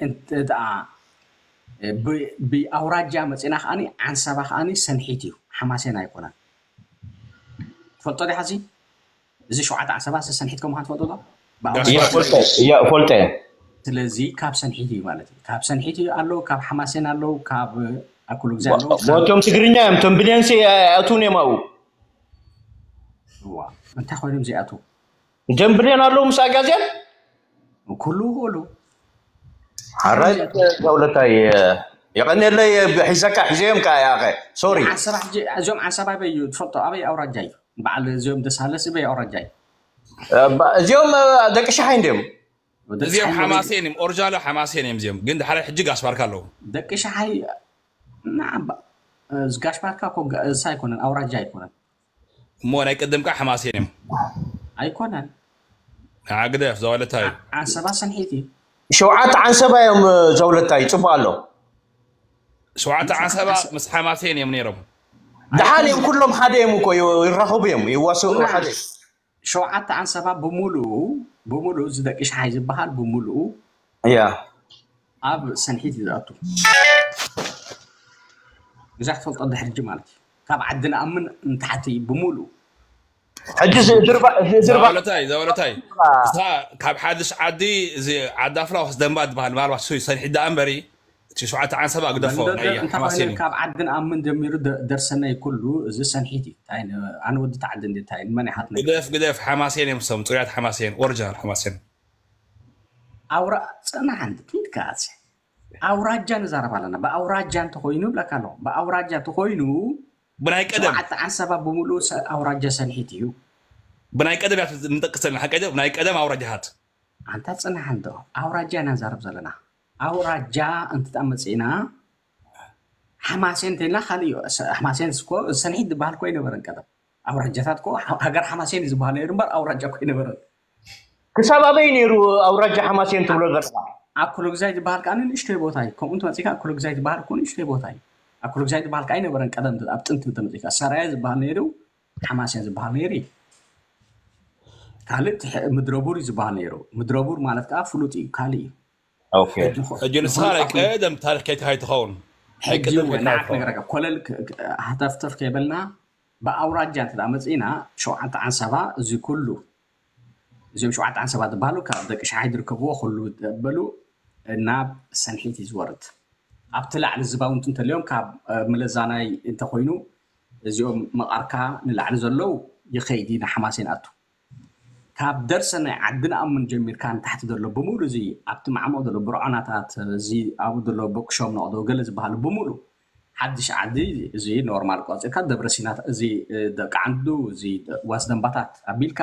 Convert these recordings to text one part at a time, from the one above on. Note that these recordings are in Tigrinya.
እንተ ደኣ ብኣውራጃ መፂና ከዓኒ ዓንሰባ ከዓኒ ሰንሒት እዩ፣ ሓማሴን ኣይኮነን። ትፈልጦ ዲኻ? እዚ እዚ ሸውዓተ ዓንሰባ ሰንሒት ከም ምዃን ትፈልጦ ዶ? እፈልጠ። ስለዚ ካብ ሰንሒት እዩ ማለት እዩ። ካብ ሰንሒት እዩ ኣለዉ፣ ካብ ሓማሴን ኣለዉ፣ ካብ ኣኩሉ ግዜ ኣለዉ። እቶም ትግርኛ እዮም። እቶም ብልዮንሲ ኣይኣትውን እዮም ኣብኡ። እንታይ ኮይኖም ዘይኣትዉ? እቶም ብልዮን ኣለዉ ምስ ኣጋዝያን ኩሉ ክእሉ ሓራይ ዘውለታይ የቐኔለይ ሒዘካ ሒዘዮም ከ ያኸ ሶሪ እዚኦም ዓንሰባ ኣበይ እዩ ትፈልጦ? ኣበይ ኣውራጃ እዩ በዓል እዚኦም ደሳለስ በይ ኣውራጃ እዩ? እዚኦም ደቂ ሸሓይ እንዲዮም። እዚኦም ሓማሴን እዮም። ኦርጃሎ ሓማሴን እዮም እዚኦም። ግን ድሓረ ሕጂ ጋሽ ባርካ ኣለዉ። ደቂ ሸሓይ ንዓባ ጋሽ ባርካ እኮ እሳ ኣይኮነን ኣውራጃ ኣይኮነን። እሞ ናይ ቅድም ከዓ ሓማሴን እዮም። ኣይኮነን። ግደፍ ዘወለታይ። ዓንሰባ ሰንሒት እዩ። ሸውዓተ ዓንሰባ እዮም ዘውለታይ ጽቡቅ ኣሎ። ሸውዓተ ዓንሰባ ምስ ሓማሴን እዮም ነይሮም። ደሓን እዮም ኩሎም ሓደ እዮም እኮ ይራኸቡ እዮም ይዋስኡ ሓደ። ሸውዓተ ዓንሰባ ብምሉኡ ብምሉኡ እዚ ደቂ ሸሓይ ዝበሃል ብምሉኡ እያ ኣብ ሰንሒት እዩ ዝኣቱ። እዛ ክትፈልጦ ድሕርጂ ማለት እዩ። ካብ ዓዲ ንኣምን ንታሕቲ ብምሉኡ ሕጂ ዝድርባ ዝድርባ ዘበለታይ ዘበለታይ እሳ ካብ ሓድሽ ዓዲ እዚ ዓዲ ኣፍላ ወስ ደንባ ትበሃል ምናልባት ሱ ሰንሒት ደኣ እምበሪ እቲ ሸውዓተ ዓንሰባ ግደፎ ናይ ሓማሴን እዩ። ካብ ዓዲ ንኣምን ጀሚሩ ደርሰናይ ኩሉ እዚ ሰንሒት እዩ። እንታይ ን- ኣነ ወዲ ተዓዲ እንዴ እንታይ ንመን ይሓትነ ግደፍ ግደፍ ሓማሴን እዮም ሰም ፅሩያት ሓማሴን ኦሪጂናል ሓማሴን። ኣውራ ፅናሕ እንዲ ኪድካ ኣዚ ኣውራጃ ንዛረብ ኣለና። ብኣውራጃ እንተኮይኑ ብለካ ኣለኹ ብኣውራጃ እንተኮይኑ ብናይ ቀደም ሸውዓተ ዓንሰባ ብምሉኡ ሰ- ኣውራጃ ሰንሒት እዩ። ብናይ ቀደም እያ ንጠቅስ ዘለና ሓቀ ብናይ ቀደም ኣውራጃታት ኣንታ ፅናሕ እንዶ ኣውራጃ ኢና ንዛረብ ዘለና። ኣውራጃ እንትጣ መፅእና ሓማሴን እንተልና ካልእ እዩ። ሰ- ሓማሴን እስኮ ሰንሒት ዝበሃል ኮ ኣይነበረን ቀደም። ኣውራጃታት ኮ ሃ- ሃገር ሓማሴን እዩ ዝበሃል ነይሩ እምበር ኣውራጃ ኮ ኣይነበረን። ክሳብ ኣበይ ነይሩ ኣውራጃ ሓማሴን ትብሎ ዘለካ? ኣኩለግዛይ ዝበሃል ከዓ ንእሽተይ ቦታ እዩ። ከምኡ እንተመፂካ ኣኩለግዛይ ዝበሃል እኮ ንእሽተይ ቦታ እዩ። ኣኩለግዛይ ዝበሃል ከዓ ኣይነበረን ቀደም ኣብ ጥንቲ እንተመፂካ ሰራየ ዝበሃል ነይሩ፣ ሓማሴን ዝበሃል ነይሩ እዩ። ካልእ ትሕ- ምድረቡር እዩ ዝበሃል ነይሩ። ምድረቡር ማለት ከዓ ፍሉጥ እዩ፣ ካልእ እዩ። ኦኬ። ሕጂ ንስኻ ናይ ቀደም ታሪክ ከይትኻ ይትኸውን። ናይ ሕጂ ቀደም እውን ከይትኻ ንዓክ ይትኸውን። ነገረካ ኮለል ክ- ክ- ሃተፍተፍ ከይበልና ብኣውራጃ እንተ ደኣ መፅእና ሸውዓተ ዓንሰባ እዚ ኩሉ እዚኦም ሸውዓተ ዓንሰባ ዝበሃሉ ካብ ደቂ ሸሓይ ዝርከብዎ ኩሉ በሉ ናብ ሰንሒት እዩ ዝወርድ። ኣብቲ ላዕሊ ዝባውንቲ እንተልዮም ካብ እ፣ ምለዛናይ እንተኮይኑ እዚኦም መቓርካ ንላዕሊ ዘለዉ ይኸይድ እዩ ንሓማሴን ኣቱ። ካብ ደርሰ ናይ ዓዲ ንኣምን ጀሚርካ ንታሕቲ ዘሎ ብምሉ እዚ ኣብቲ ማዕሙቕ ዘሎ ብርዖናታት እዚ ኣብኡ ዘሎ ቦቅሾም ነቕዶ ገለ ዝበሃሉ ብምሉ ሓድሽ ዓዲ እዚ ኖርማል ቆፂርካ ደብረ ሲናት እዚ ደቂ ዓንዱ እዚ ዋስ ደንባታት ኣቢልካ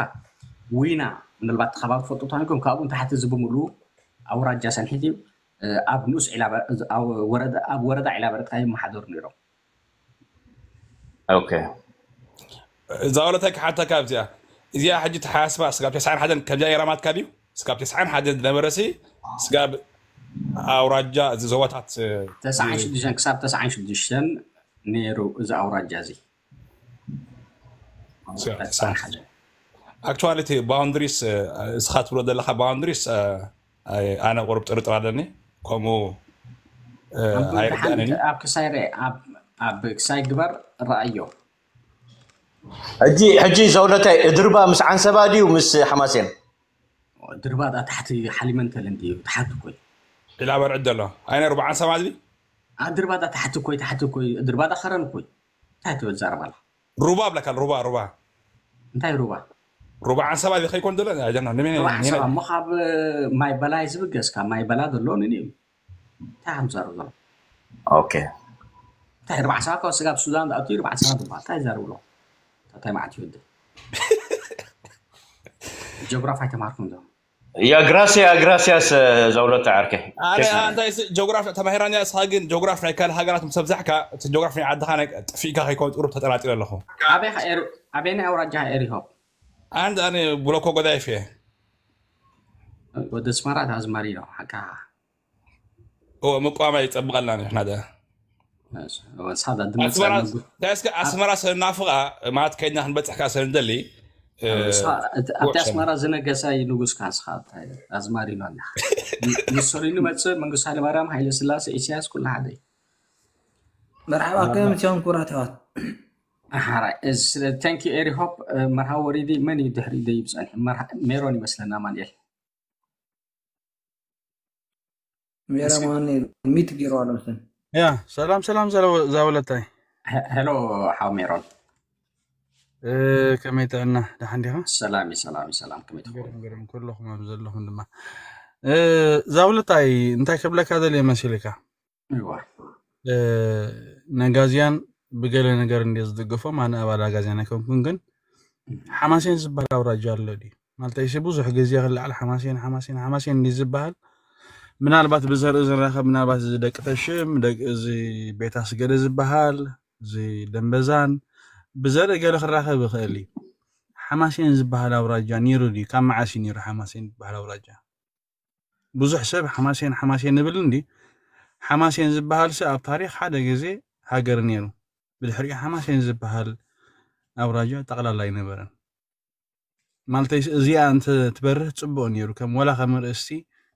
ዊና ምናልባት እቲ ከባቢ ትፈልጡ ተኮንኩም ካብኡ ንታሕቲ እዚ ብምሉ ኣውራጃ ሰንሒት እዩ። ኣብ ንኡስ ዒላበ- ኣብ ወረዳ ኣብ ወረዳ ዒላበረትካ ይመሓደሩ ነይሮም። ኦኬ እዛ ወለታይ ክሓተካ ኣብዚኣ እዚኣ ሕጂ ተሓስባ ስጋብ ተስዓን ሓደን ከምዚኣ ነይራ ማትካ ድዩ? ስጋብ ተስዓን ሓደን ዝነበረ ሲ ስጋብ ኣውራጃ እዚ ዞባታት ተስዓን ሽዱሽተን ክሳብ ተስዓን ሽዱሽተን ነይሩ እዚ ኣውራጃ እዚ። ኣክቹዋሊ እቲ ባውንድሪስ እስኻ ትብሎ ዘለካ ባውንድሪስ ኣነ ቁሩብ ጥርጥር ኣለኒ። ከምኡ ኣይርዳእንን እዩ። ኣብ ክሳይ ርአ ኣብ ክሳይ ግበር ረኣዮ። ሕጂ ሕጂ ዘውለታይ ድርባ ምስ ዓንሰባ ድዩ ምስ ሓማሴን? ድርባ ዳ ታሕቲ ሓሊመንተል እንዲ ታሕቲ ኮይ። ኢላ በርዕድ ዘሎ ኣይነ ሩባ ዓንሰባ ዝቢ ድርባ ዳ ታሕቲ ኮይ ታሕቲ ኮይ ድርባ ዳ ከረን ኮይ። እንታይ ትብል ዛረባ ኣላ? ሩባ ብለካ ሩባ ሩባ እንታይ ሩባ? ሩባ ዓንሰባ ዝኸይኮን ዘሎ ኣይደና ንመን ሩባ ዓንሰባ እሞ ካብ ማይ በላይ ዝብገስ ካብ ማይ በላ ዘሎ ንኒ እንታይ ከም ዛረብ ዘሎ? ኦኬ እንታይ ሩባ ዓንሰባ ካብ ስጋብ ሱዳን ዝኣቱ ሩባ ዓንሰባ ዝበሃል እንታይ ዛረብ ኣሎ? እንታይ ማለት ይወደ ጀግራፍ ኣይተማርኩም ዶ? ያ ግራሲያ ግራሲያስ ዘውለታ ዓርከይ ኣነ ኣንታይ ስ- ጆግራፍ ተማሂራኒ እያ። እስኻ ግን ጆግራፍ ናይ ካልእ ሃገራት ምስ ኣብዛሕካ እቲ ጆግራፍ ናይ ዓድኻ ናይ ጥፊእካ ከይከውን ቁሩብ ተጠራጢረ ኣለኹ። ኣበይ ኸ ኤሪ- ኣበይ ናይ ኣውራጃ ኤሪሆ ኣንድ ኣነ ብሎኮ ጎዳይፍ እየ። ወደ ስመራ ኣዝማሪ ነው ሓቃ እወ ምቋማ ይጸብቐልና ንሕና ደ ሳዳ ድመጻ ኣስመራ እስከ ኣስመራ ሰናፍቓ ማለት ከይድና ክንበጽሕ ከኣ ሰንደሊ ኣብቲ ኣስመራ ዝነገሰ እዩ ንጉስካ። ንስኻ ኣዝማሪኖ ኣለኻ። ሙሶሊኒ መፅእ፣ መንግስቱ ሃይለማርያም፣ ሃይለ ስላሴ፣ ኢሳያስ፣ ኩሉ ሓደ እዩ። መርሓባ፣ ከመይ መሲኹም ክቡራት ኣሕዋት? ሓራይ። Thank you ኤሪሆፕ። መርሃ ወሪዲ መን እዩ ድሕሪ ደይብ ፀኒሑ? ሜሮን ይመስለና። ኣማንኤል ሜሮን ሚት ገይሩ ኣሎ መሰለኝ። ያ ሰላም ሰላም። ዛወለታይ። ሄሎ ሓው ሜሮን። ከመይ ጥዕና? ደሓን ዲኻ? ሰላም ሰላም ሰላም። ከመይ ትኸውን? ኩልኹም ኣብ ዘለኹም ድማ። ዛውለታይ፣ እንታይ ከብለካ ደልየ መሲልካ? ነጋዝያን ብገለ ነገር እንደ ዝድግፎም፣ ኣነ ኣባል ኣጋዝያን ኣይኮንኩን፣ ግን ሓማሴን ዝበሃል ኣውራጃ ኣሎ ድዩ? ማለት እሺ፣ ብዙሕ ግዜ ክለዓል ሓማሴን ሓማሴን ሓማሴን እንዲ ዝበሃል፣ ምናልባት ብዘርኢ ዝራኸብ፣ ምናልባት እዚ ደቂ ተሽም፣ ደቂ እዚ ቤት ኣስገደ ዝበሃል፣ እዚ ደንበዛን ብዘርኢ ገለ ክራኸብ ይኽእል እዩ። ሓማሴን ዝበሃል ኣውራጃ ነይሩ ድዩ? ካብ መዓስ እዩ ነይሩ ሓማሴን ዝበሃል ኣውራጃ? ብዙሕ ሰብ ሓማሴን ሓማሴን ንብል እንዲ፣ ሓማሴን ዝበሃል ሲ ኣብ ታሪኽ ሓደ ግዜ ሃገር ነይሩ። ብድሕሪኡ ሓማሴን ዝበሃል ኣውራጃ ጠቕላላ ኣይነበረን። ማለተይ እዚኣ እንተ ትበርህ ጽቡቕ ነይሩ፣ ከም ወላ ከም ርእስቲ፣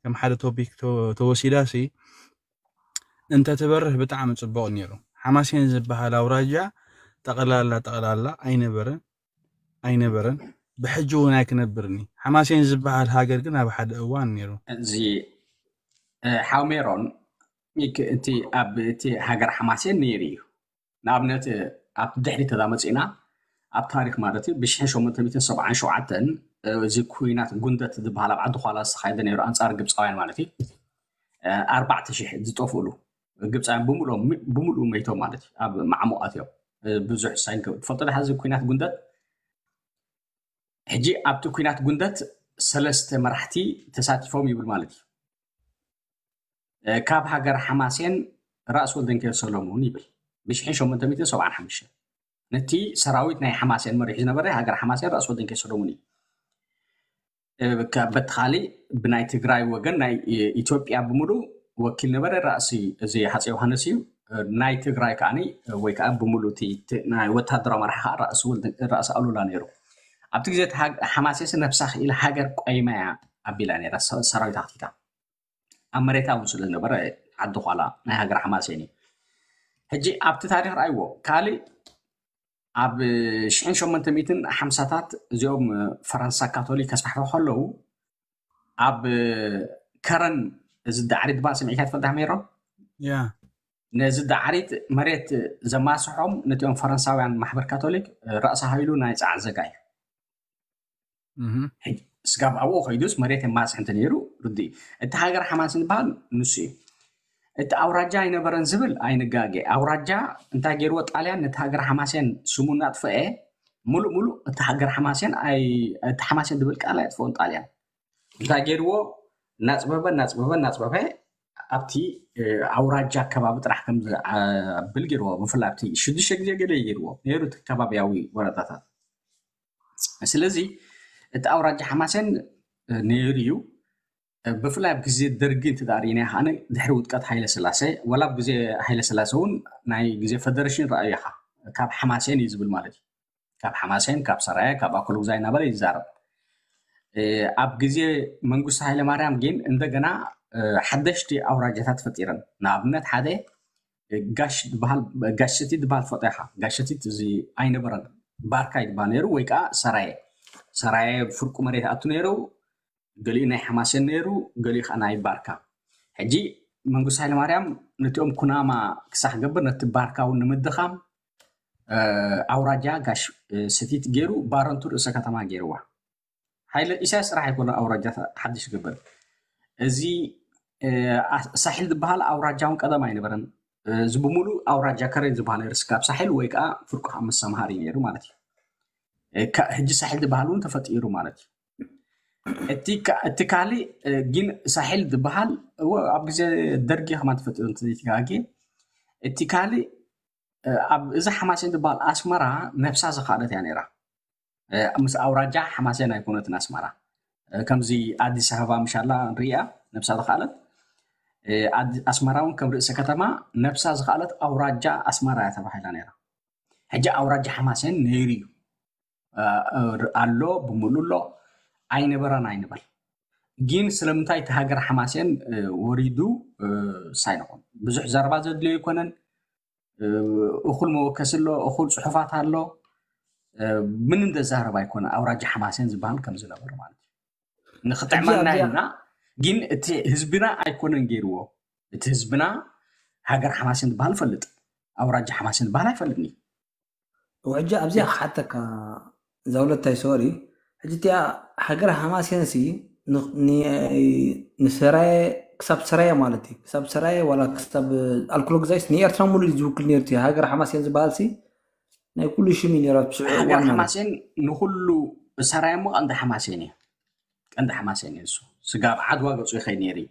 ከም ሓደ ቶፒክ ተወሲዳ ሲ እንተ ትበርህ ብጣዕሚ ጽቡቕ ነይሩ። ሓማሴን ዝበሃል ኣውራጃ ጠቕላላ ጠቕላላ ኣይነበረን ኣይነበረን፣ ብሕጂ እውን ኣይክነብርን እዩ። ሓማሴን ዝበሃል ሃገር ግን ኣብ ሓደ እዋን ነይሩ። እዚ ሓው ሜሮን፣ እቲ ኣብ እቲ ሃገር ሓማሴን ነይሩ እዩ። ንኣብነት ኣብ ድሕሪ ተዛመፂና ኣብ ታሪክ ማለት እዩ ብ ሸሞንተ ሚእትን ሰብዓን ሸውዓተን እዚ ኩናት ጉንደት ዝበሃል ኣብ ዓዲ ኳላ ዝተካየደ ነይሩ ኣንፃር ግብፃውያን ማለት እዩ። ኣርባዕተ ሽሕ ዝጠፍእሉ ግብፃውያን ብምሉእ መይቶም ማለት እዩ። ኣብ ማዕሙቃት እዮም። ብዙሕ ሳይን ትፈልጦ ዶ? እዚ ኩናት ጉንደት ሕጂ ኣብቲ ኩናት ጉንደት ሰለስተ መራሕቲ ተሳቲፎም ይብል ማለት እዩ። ካብ ሃገር ሓማሴን ራእሲ ወልደንኪዮስ ሰሎሙን ይብል ብ ሸሞንተ ሚእትን ሰብዓን ሓሙሽተን። ነቲ ሰራዊት ናይ ሓማሴን መሪሑ ዝነበረ ሃገር ሓማሴን ራእሲ ወልደንኪዮስ ሰሎሙን እዩ። በቲ ካሊእ ብናይ ትግራይ ወገን ናይ ኢትዮጵያ ብምሉእ ወኪል ነበረ ራእሲ እዚ ሃፀይ ዮሃንስ እዩ። ናይ ትግራይ ከዓ ወይ ከዓ ብምሉእ ናይ ወታደራዊ መራሒ ከዓ ራእሲ ኣሉላ ነይሩ። ኣብቲ ግዜ ሓማሴስ ነብሳ ክኢላ ሃገር ቆይማ እያ ኣቢላ ነይራ ሰራዊት ኣክቲታ ኣብ መሬታ እውን ስለ ዝነበረ ዓዲ ኳላ ናይ ሃገር ሓማሴን እዩ። ሕጂ ኣብቲ ታሪክ ረኣይዎ። ካልእ ኣብ ሽሕን ሸሞንተ ሚእትን ሓምሳታት እዚኦም ፈረንሳ ካቶሊክ ከስፋሕፍሑ ከለዉ ኣብ ከረን እዚ ዳዕሪት ድባ ስምዒካ ትፈልጣ ሜሮ? ያ ነዚ ዳዕሪት መሬት ዘማስሖም ነቲኦም ፈረንሳውያን ማሕበር ካቶሊክ ራእሲ ሃይሉ ናይ ፃዕ ዘጋ እዩ። ስጋብ ኣብኡ ከይዱስ መሬት የማስሕ እንተ ነይሩ ርዲ። እቲ ሃገር ሓማስ ዝበሃል ንሱ እዩ። እቲ ኣውራጃ ኣይነበረን ዝብል ኣይንጋገ። ኣውራጃ እንታይ ገይርዎ? ጣልያን ነቲ ሃገር ሓማሴን ስሙ እናጥፈኤ ሙሉእ ሙሉእ እቲ ሃገር ሓማሴን እቲ ሓማሴን ዝብል ቃል ኣይጥፈኦን ጣልያን። እንታይ ገይርዎ? እናፅበበ እናፅበበ እናፅበበ ኣብቲ ኣውራጃ ከባቢ ጥራሕ ከም ዝብል ገይርዎ። ብፍላይ ኣብቲ ሽዱሽተ ግዜ ገለ ገይርዎ ነይሩ እቲ ከባቢያዊ ወረዳታት። ስለዚ እቲ ኣውራጃ ሓማሴን ነይሩ እዩ። ብፍላይ ኣብ ግዜ ደርጊ እንተ ርኢና ከኣ ድሕሪ ውድቀት ሃይለ ስላሴ ወላ ኣብ ግዜ ሃይለ ስላሴ እውን ናይ ግዜ ፈደረሽን ረኣዩ ኢኻ። ካብ ሓማሴን እዩ ዝብል ማለት እዩ። ካብ ሓማሴን፣ ካብ ሰራየ፣ ካብ ኣኮሎጉዛይ እናበለ ይዛረብ። ኣብ ግዜ መንግስቱ ሃይለ ማርያም ግን እንደገና ሓደሽቲ ኣውራጃታት ፈጢረን። ንኣብነት ሓደ ጋሽ ዝበሃል ጋሽ ሰቲት ዝበሃል ትፈልጦ ኢኻ። ጋሽ ሰቲት እዚ ኣይነበረን ባርካ ይበሃል ነይሩ ወይ ከዓ ሰራየ። ሰራየ ፍርቁ መሬት ኣቱ ነይሩ፣ ገሊኡ ናይ ሓማሴን ነይሩ፣ ገሊኡ ከዓ ናይ ባርካ። ሕጂ መንግስቱ ሃይለማርያም ነቲኦም ኩናማ ክሳዕ ክገብር ነቲ ባርካ እውን ንምድኻም ኣውራጃ ጋሽ ሰቲት ገይሩ ባረንቱ ርእሰ ከተማ ገይርዋ። ሃይለ ኢሳያስ ስራሕ ኣይኮነ ኣውራጃ ሓድሽ ክገብር። እዚ ሳሒል ዝበሃል ኣውራጃ እውን ቀደም ኣይነበረን። እዚ ብምሉእ ኣውራጃ ከረን ዝበሃል ነይሩ ስካብ ሳሒል ወይ ከዓ ፍርቁ ካብ መሰምሃሪ ነይሩ ማለት እዩ። ሕጂ ሳሒል ዝበሃል እውን ተፈጢሩ ማለት እዩ። እቲ ካልእ ግን ሳሒል ዝበሃል ኣብ ግዜ ደርጊ ከማን ተፈጢሩ እንተዘይተጋጌ። እቲ ካልእ ኣብ እዛ ሓማሴን ዝበሃል ኣስመራ ነብሳ ዝኸኣለት እያ ነይራ። ምስ ኣውራጃ ሓማሴን ኣይኮነትን ኣስመራ። ከምዚ ኣዲስ ኣበባ ምሻላ ንሪኣ ነብሳ ዝኸኣለት፣ ኣስመራ እውን ከም ርእሰ ከተማ ነብሳ ዝኸኣለት ኣውራጃ ኣስመራ እያ ተባሂላ ነይራ። ሕጂ ኣውራጃ ሓማሴን ነይሩ እዩ። ኣሎ፣ ብምሉእ ኣሎ። ኣይነበረን ኣይንበል። ግን ስለምንታይ እቲ ሃገር ሓማሴን ወሪዱ ሳይንኾን ብዙሕ ዘረባ ዘድልዮ ኣይኮነን። እኹል መወከሲ ኣሎ፣ እኹል ፅሑፋት ኣሎ። ምን እንደዛረብ ኣይኮነ ኣውራጃ ሓማሴን ዝበሃል ከም ዝነበረ ማለት እዩ። ንክጥዕመና ኢልና ግን እቲ ህዝብና ኣይኮነን ገይርዎ። እቲ ህዝብና ሃገር ሓማሴን ዝበሃል ፈልጥ፣ ኣውራጃ ሓማሴን ዝበሃል ኣይፈልጥኒ። ሕጂ ኣብዚኣ ክሓተካ ዛውለታይ ሶሪ፣ ሕጂ እቲኣ ሃገር ሃማሴንሲ ንሰራየ ክሳብ ሰራየ ማለት እዩ፣ ክሳብ ሰራየ ዋላ ክሳብ ኣልኮሎ ግዛይስ ንኤርትራ ሙሉ እዩ ዝውክል ነይሩ። እቲ ሃገር ሓማሴን ዝበሃል ሲ ናይ ኩሉ ሽም እዩ ነይሩ። ኣብ ስዑ ሃገር ሓማሴን ንኩሉ ሰራየ እሞ ቀንዲ ሓማሴን እዩ። ቀንዲ ሓማሴን እዩ እሱ። ስጋብ ዓድዋ ገፁ ይኸይድ ነይሩ እዩ።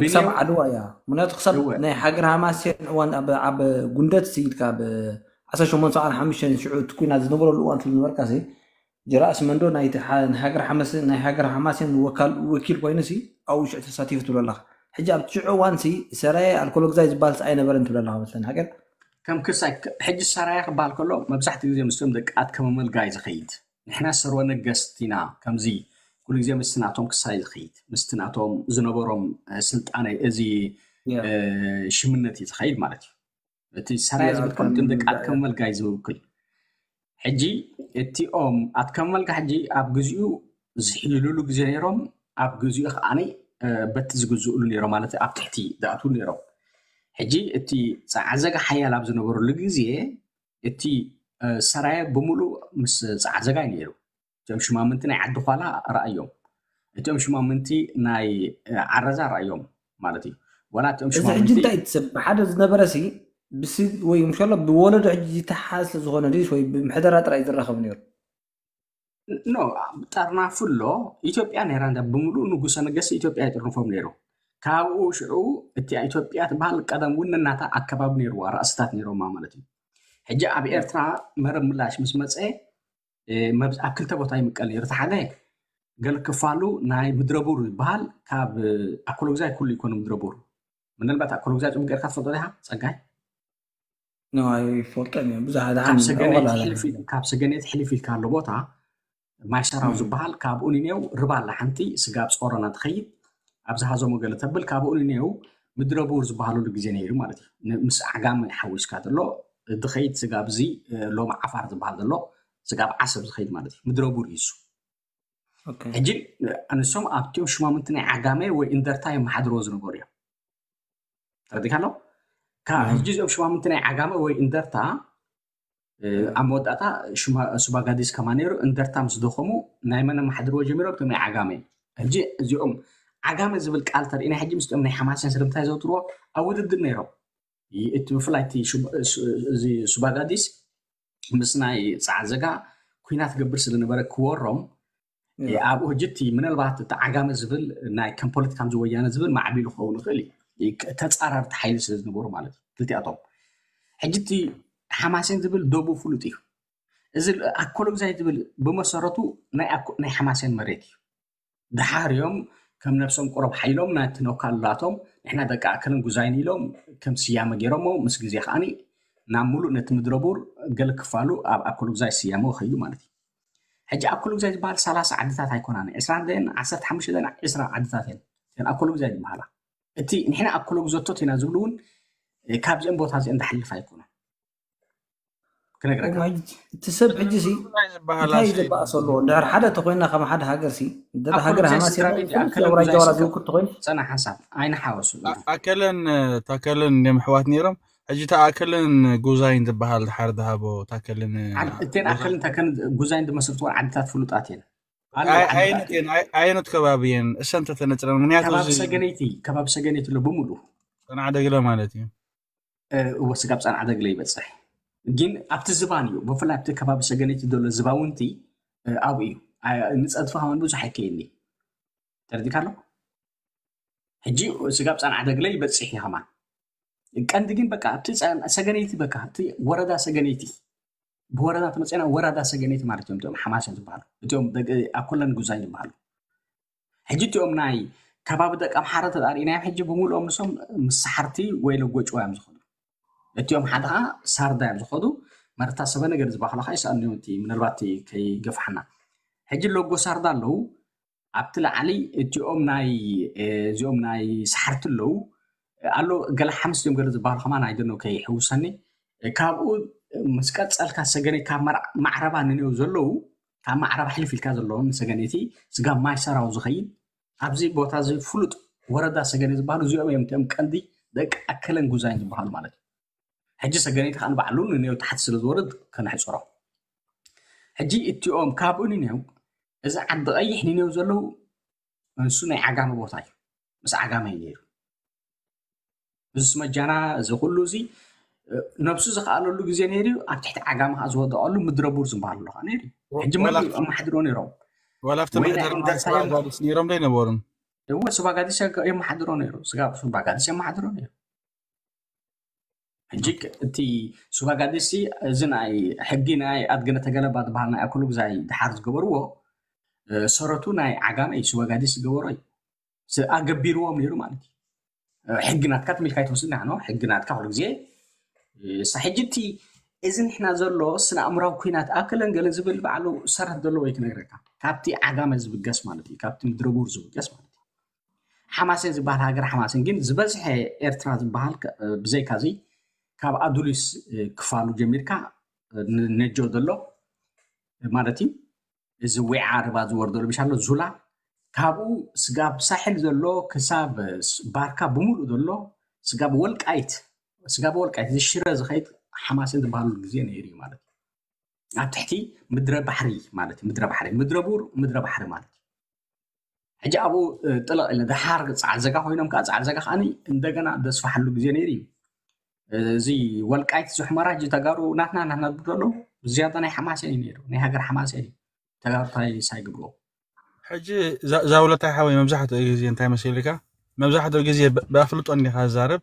ክሳብ ዓድዋ እያ። ምክንያቱ ክሳብ ናይ ሃገር ሃማሴን እዋን ኣብ ጉንደት ስኢድካ ኣብ ዓሰርተ ሸሞንተ ሰዓት ሓሙሽተ ሽዑ እቲ ኩናት ዝነበረሉ እዋን ትብል ነበርካ ሲ ጀራእስ መንዶ ናይ ሃገር ሓማሴን ወኪል ኮይኑ ሲ ኣብኡ ሽዑ ተሳቲፉ ትብሎ ኣለካ። ሕጂ ኣብቲ ሽዑ እዋን ሲ ሰራየ ኣልኮሎ ግዛይ ዝበሃል ኣይነበረን ትብል ኣለካ መስለኒ ሃገር ከም ክሳይ ሕጂ ሰራየ ክበሃል ከሎ መብዛሕትኡ ግዜ ምስቶም ደቂ ኣትከመ መልጋይ ዝኸይድ ንሕና ሰርወ ነገስት ኢና ከምዚ ኩሉ ግዜ ምስቲ ናቶም ክሳይ ዝኸይድ ምስቲ ናቶም ዝነበሮም ስልጣነ እዚ ሽምነት እዩ ዝኸይድ ማለት እዩ። እቲ ሰራየ ዝብል ከም ደቂ ኣትከመ መልጋይ ዝውክል ሕጂ እቲኦም ኣትከመ መልጋ ሕጂ ኣብ ግዚኡ ዝሕይልሉ ግዜ ነይሮም ኣብ ግዚኡ ከዓኒ በቲ ዝግዝእሉ ነይሮም ማለት ኣብ ትሕቲ ዝኣትውሉ ነይሮም። ሕጂ እቲ ፃዕዘጋ ሓያል ኣብ ዝነበረሉ ግዜ እቲ ሰራየ ብምሉእ ምስ ፃዕዘጋ እዩ ነይሩ። እቶም ሽማምንቲ ናይ ዓዲ ኳላ ረኣዮም። እቶም ሽማምንቲ ናይ ዓረዛ ረኣዮም ማለት እዩ። ዋላ እቶም እዚ ሕጂ እንታይ ትሰብ ሓደ ዝነበረ ሲ ብሲ ወይ ምሸሎ ብወለዶ ሕጂ ዝተሓዝ ዝኾነ ድስ ወይ ብምሕደራ ጥራይ ዝራኸብ ነይሩ። ኖ ጠርናፉ ኣሎ። ኢትዮጵያ ነይራ እንዳ ብምሉእ ንጉሰ ነገስት ኢትዮጵያ ይጥርንፎም ነይሩ። ካብኡ ሽዑ እቲ ኢትዮጵያ ትበሃል ቀደም እውን ነናታ ኣከባቢ ነይርዋ ራእስታት ነይሮማ ማለት እዩ። ሕጂ ኣብ ኤርትራ መረብ ምላሽ ምስ መፀ ኣብ ክልተ ቦታ ይምቀል ነይሩ። እቲ ሓደ ገለ ክፋሉ ናይ ምድረቡር ይበሃል። ካብ ኣኮሎግዛይ ኩሉ ይኮነ ምድረቡር ምናልባት ኣኮሎግዛይ ፅቡቅ ጌርካ ትፈልጦ ዲኻ ፀጋይ? ይፈልጦ ብዙሕ ካብ ሰገኔት ሕልፍ ኢልካ ኣሎ ቦታ ማይሰራው ዝበሃል ካብኡ ንኔው ርባ ኣላ ሓንቲ ስጋብ ጾሮና ትኸይድ ኣብ ዝሃዞሞ ገለ ተብል ካብኡ ንኔው ምድረቡር ዝበሃለሉ ግዜ ነይሩ ማለት እዩ። ምስ ዓጋመ ሓዊስካ ዘሎ ዝኸይድ ስጋብ እዚ ሎሚ ዓፋር ዝበሃል ዘሎ ስጋብ ዓሰብ ዝኸይድ ማለት እዩ። ምድረቡር እዩ እሱ። ሕጂ ንሶም ኣብቲኦም ሽማምንቲ ናይ ዓጋመ ወይ እንደርታ የመሓድርዎ ዝነበሩ እዮም። ተረዲካ ኣሎ። ካብ ሕጂ እዚኦም ሽማምንቲ ናይ ዓጋመ ወይ እንደርታ ኣብ መወዳእታ ሱባጋዲስ ከማ ነይሩ። እንደርታ ምስ ደኸሙ ናይ መን ኣመሓድርዎ ጀሚሮም? እቶም ናይ ዓጋመ። ሕጂ እዚኦም ዓጋመ ዝብል ቃል ተርእና ሕጂ ምስኦም ናይ ሓማሴን ስለምንታይ ዘውትርዎ ኣብ ውድድር ነይሮም። እቲ ብፍላይ እዚ ሱባጋዲስ ምስ ናይ ፃዕዘጋ ኩናት ገብር ስለነበረ ክወሮም ኣብኡ ሕጂ እቲ ምናልባት እቲ ዓጋመ ዝብል ናይ ከም ፖለቲካ ከምዚ ወያነ ዝብል ማዕቢሉ ክኸውን ይኽእል እዩ። ተፃራርቲ ሓይሊ ስለ ዝነበሩ ማለት እዩ ክልቲኣቶም። ሕጂ እቲ ሓማሴን ዝብል ደቡ ፍሉጥ እዩ። እዚ ኣኮሎግዛይ ዝብል ብመሰረቱ ናይ ሓማሴን መሬት እዩ። ድሓር እዮም ከም ነብሶም ቁረብ ሓይሎም ናቲ ነውካልላቶም ንሕና ደቂ ኣከልን ጉዛይን ኢሎም ከም ስያመ ገይሮሞ ምስ ግዜ ከዓኒ ናብ ሙሉእ ነቲ ምድረቡር ገለ ክፋሉ ኣብ ኣኮሎግዛይ ስያመ ከይዱ ማለት እዩ። ሕጂ ኣኮሎግዛይ ዝበሃል ሰላሳ ዓድታት ኣይኮናን፣ ዕስራን ደን ዓሰርተ ሓሙሽተ ደን ዕስራ ዓድታት እየን እተን ኣኮሎግዛይ ዝበሃላ። እቲ ንሕና ኣኮሎግዘቶት ኢና ዝብሉ እውን ካብዚኦም ቦታ እዚኦም ዝሓልፍ ኣይኮነን። ክነግረካ እቲ ሰብ ሕጂ ሲ እንታይ ዝበኣስ ኣለዎ? እንድሕር ሓደ ተኮይና ከም ሓደ ሃገር ሲ እንተ ሃገር ሃማሴን ኣውራጃ ዋላ ዝውክል ተኮይኑ ጸና ሓሳብ ኣይንሓወሱ። ኣከለን ታከለን እንዲም ኣሕዋት ነይሮም። ሕጂ እታ ኣከለን ጉዛይን ዝበሃል ድሓር ዝሃቦ ታከልን እተን ኣከልን ታከልን ጉዛይን ዝመስርትዎ ዓድታት ፍሉጣት እየን። ኣየነት ከባቢ እየን እሰን ተተነፅረን? ምክንያቱ ከባቢ ሰገነይቲ ከባቢ ሰገነይቲ ኣሎ ብምሉ ጸናዕ ደግለ ማለት እዩ። እወ ስጋብ ጸናዕ ደግለ ይበጽሕ። ግን ኣብቲ ዝባን እዩ ብፍላይ ኣብቲ ከባቢ ሰገነይቲ ዘሎ ዝባውንቲ ኣብኡ እዩ። ንጸድፊ ከማን ብዙሕ ኣይከይኒ ተረዲካ ኣሎ። ሕጂ ስጋብ ጸናዕ ደግለ ይበጽሕ እዩ ከማን ቀንዲ ግን በቃ ኣብቲ ሰገነይቲ በቃ እቲ ወረዳ ሰገነይቲ ብወረዳ ተመፅና ወረዳ ሰገነይቲ ማለት እዮም እቲኦም ሓማሴን ዝበሃሉ እቲኦም ኣኮለን ጉዛይ ዝበሃሉ። ሕጂ እቲኦም ናይ ከባቢ ደቂ ኣምሓራ ተዳሪእናዮም ሕጂ ብምልኦም ንሶም ምስ ሰሓርቲ ወይ ለጎጭዋ እዮም ዝኸዱ። እቲኦም ሓደ ከዓ ሳርዳ እዮም ዝኸዱ። መረታ ሰበነ ገለ ዝበሃሉ ከዓ ይሰኣሉ እዮም፣ እቲ ምናልባት ከይገፋሕና። ሕጂ ሎጎ ሳርዳ ኣለዉ፣ ኣብቲ ላዕሊ እቲኦም ናይ እዚኦም ናይ ሰሓርቲ ኣለዉ ኣሎ፣ ገለ ሓምስ እዮም ገለ ዝበሃሉ ከማን ኣይደኖ ከይሕውሰኒ። ካብኡ ምስ ቀፀልካ ሰገነይ ካብ ማዕረባ ንንየው ዘለዉ፣ ካብ ማዕረባ ሕልፍ ኢልካ ዘለዉ ንሰገነይቲ ስጋብ ማይ ሰራው ዝኸይድ ኣብዚ ቦታ እዚ ፍሉጥ ወረዳ ሰገነይ ዝበሃሉ እዚኦም እዮም፣ እቲኦም ቀንዲ ደቂ ኣከለን ጉዛይን ዝበሃሉ ማለት እዩ። ሕጂ ሰገነይቲ ከዓ ንባዕሉ ንንየው ታሕቲ ስለ ዝወርድ ከነሕፅሮ። ሕጂ እቲኦም ካብኡ ንንየው፣ እዚ ዓዲ ቀይሕ ንንየው ዘለዉ፣ ንሱ ናይ ዓጋመ ቦታ እዩ። ምስ ዓጋመ እዩ ነይሩ። እዚ ስመጃና፣ እዚ ኩሉ እዚ ነብሱ ዝኸኣለሉ ግዜ ነይሩ እዩ። ኣብ ትሕቲ ዓጋመ ከዓ ዝወደቐሉ ምድረ ቡር ዝበሃል ኣሎ ከዓ ነይሩ እዩ። ሕጂ መን ኣማሓድሮ ነይሮም? ዋላ ኣብቲ ምሕደራ ኣጋዲስ ነይሮም ዶ ኣይነበሩን? እወ፣ ሱባጋዲስ የማሓድሮ ነይሩ። ስጋ ሱባጋዲስ የማሓድሮ ነይሩ። ሕጂ እቲ ሱባጋዲስ እዚ ናይ ሕጊ ናይ ኣድግነ ተገለባ ዝበሃል ናይ ኣክሉ ግዛይ ድሓር ዝገበርዎ ሰረቱ ናይ ዓጋመ እዩ። ሱባጋዲስ ዝገበሮ እዩ። ኣገቢርዎም ነይሩ ማለት እዩ። ሕጊ ናትካ ትሚልካ ይትወስድ ናኖ ሕጊ ናትካ ኩሉ ግዜ ሳ ሕጂ እቲ እዚ ንሕና ዘሎ ስነ ኣእምራዊ ኩናት ኣክለን ገለን ዝብል ባዕሉ ሰረት ዘለዎ እዩ ክነግረካ። ካብቲ ዓጋመ ዝብገስ ማለት እዩ፣ ካብቲ ምድረቡር ዝብገስ ማለት እዩ። ሓማሴን ዝበሃል ሃገር ሓማሴን ግን ዝበዝሐ ኤርትራ ዝበሃል ብዘይካዚ ካብ ኣዱሊስ ክፋሉ ጀሚርካ ነጆ ዘሎ ማለት እዩ። እዚ ዊዓ ርባ ዝወርደሉ ብሻሎ ዙላ ካብኡ ስጋብ ሳሕል ዘሎ ክሳብ ባርካ ብምሉእ ዘሎ ስጋብ ወልቃይት ስጋብ ወልቃይት እዚ ሽረ ዝኸይድ ሓማሴን ዝበሃሉ ግዜ ነይሩ እዩ ማለት እዩ። ኣብ ትሕቲ ምድረ ባሕሪ ማለት እዩ። ምድረ ባሕሪ ምድረ ቡር ምድረ ባሕሪ ማለት እዩ። ሕጂ ኣብኡ ጥልቕ ኢለ ድሓር ፃዕል ዘጋ ኮይኖም ከዓ ፃዕል ዘጋ ከዓኒ እንደገና ደስፋሓሉ ግዜ ነይሩ እዩ። እዚ ወልቃይት ዝሕመራ ሕጂ ተጋሩ ናትና ናትና ዝብሉ ዘለዉ ዝያዳ ናይ ሓማሴን እዩ ነይሩ፣ ናይ ሃገር ሓማሴን እዩ። ተጋሩ እንታይ ሳይግብርዎ ሕጂ ዛውለታይ ሓወይ መብዛሕትኡ ግዜ እንታይ መሲልካ መብዛሕትኡ ግዜ ብኣፍልጦ እንዲካ ዝዛረብ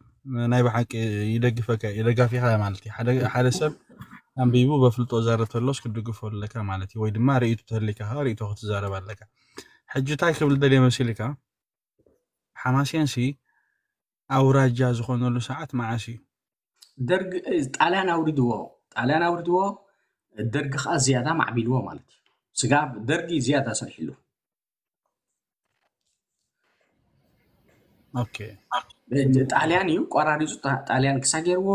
ናይ ብሓቂ ይደግፈካ ይደጋፊካ ማለት እዩ። ሓደ ሰብ ኣንቢቡ በፍልጦ ዛረብ ተሎስ ክትድግፎ ኣለካ ማለት እዩ። ወይ ድማ ርእይቶ ተህሊካ ርእይቶ ክትዛረብ ኣለካ። ሕጂ እንታይ ክብል ደልየ መሲልካ ሓማሴንሲ ኣውራጃ ዝኾነሉ ሰዓት መዓስ እዩ? ደርግ ጣልያን ኣውሪድዎ ጣልያን ኣውሪድዎ ደርግ ከዓ ዝያዳ ማዕቢልዎ ማለት እዩ። ስጋብ ደርጊ ዝያዳ ሰሪሕሉ። ኦኬ ጣልያን እዩ ቆራሪፁ። ጣልያን ክሳ ገይርዎ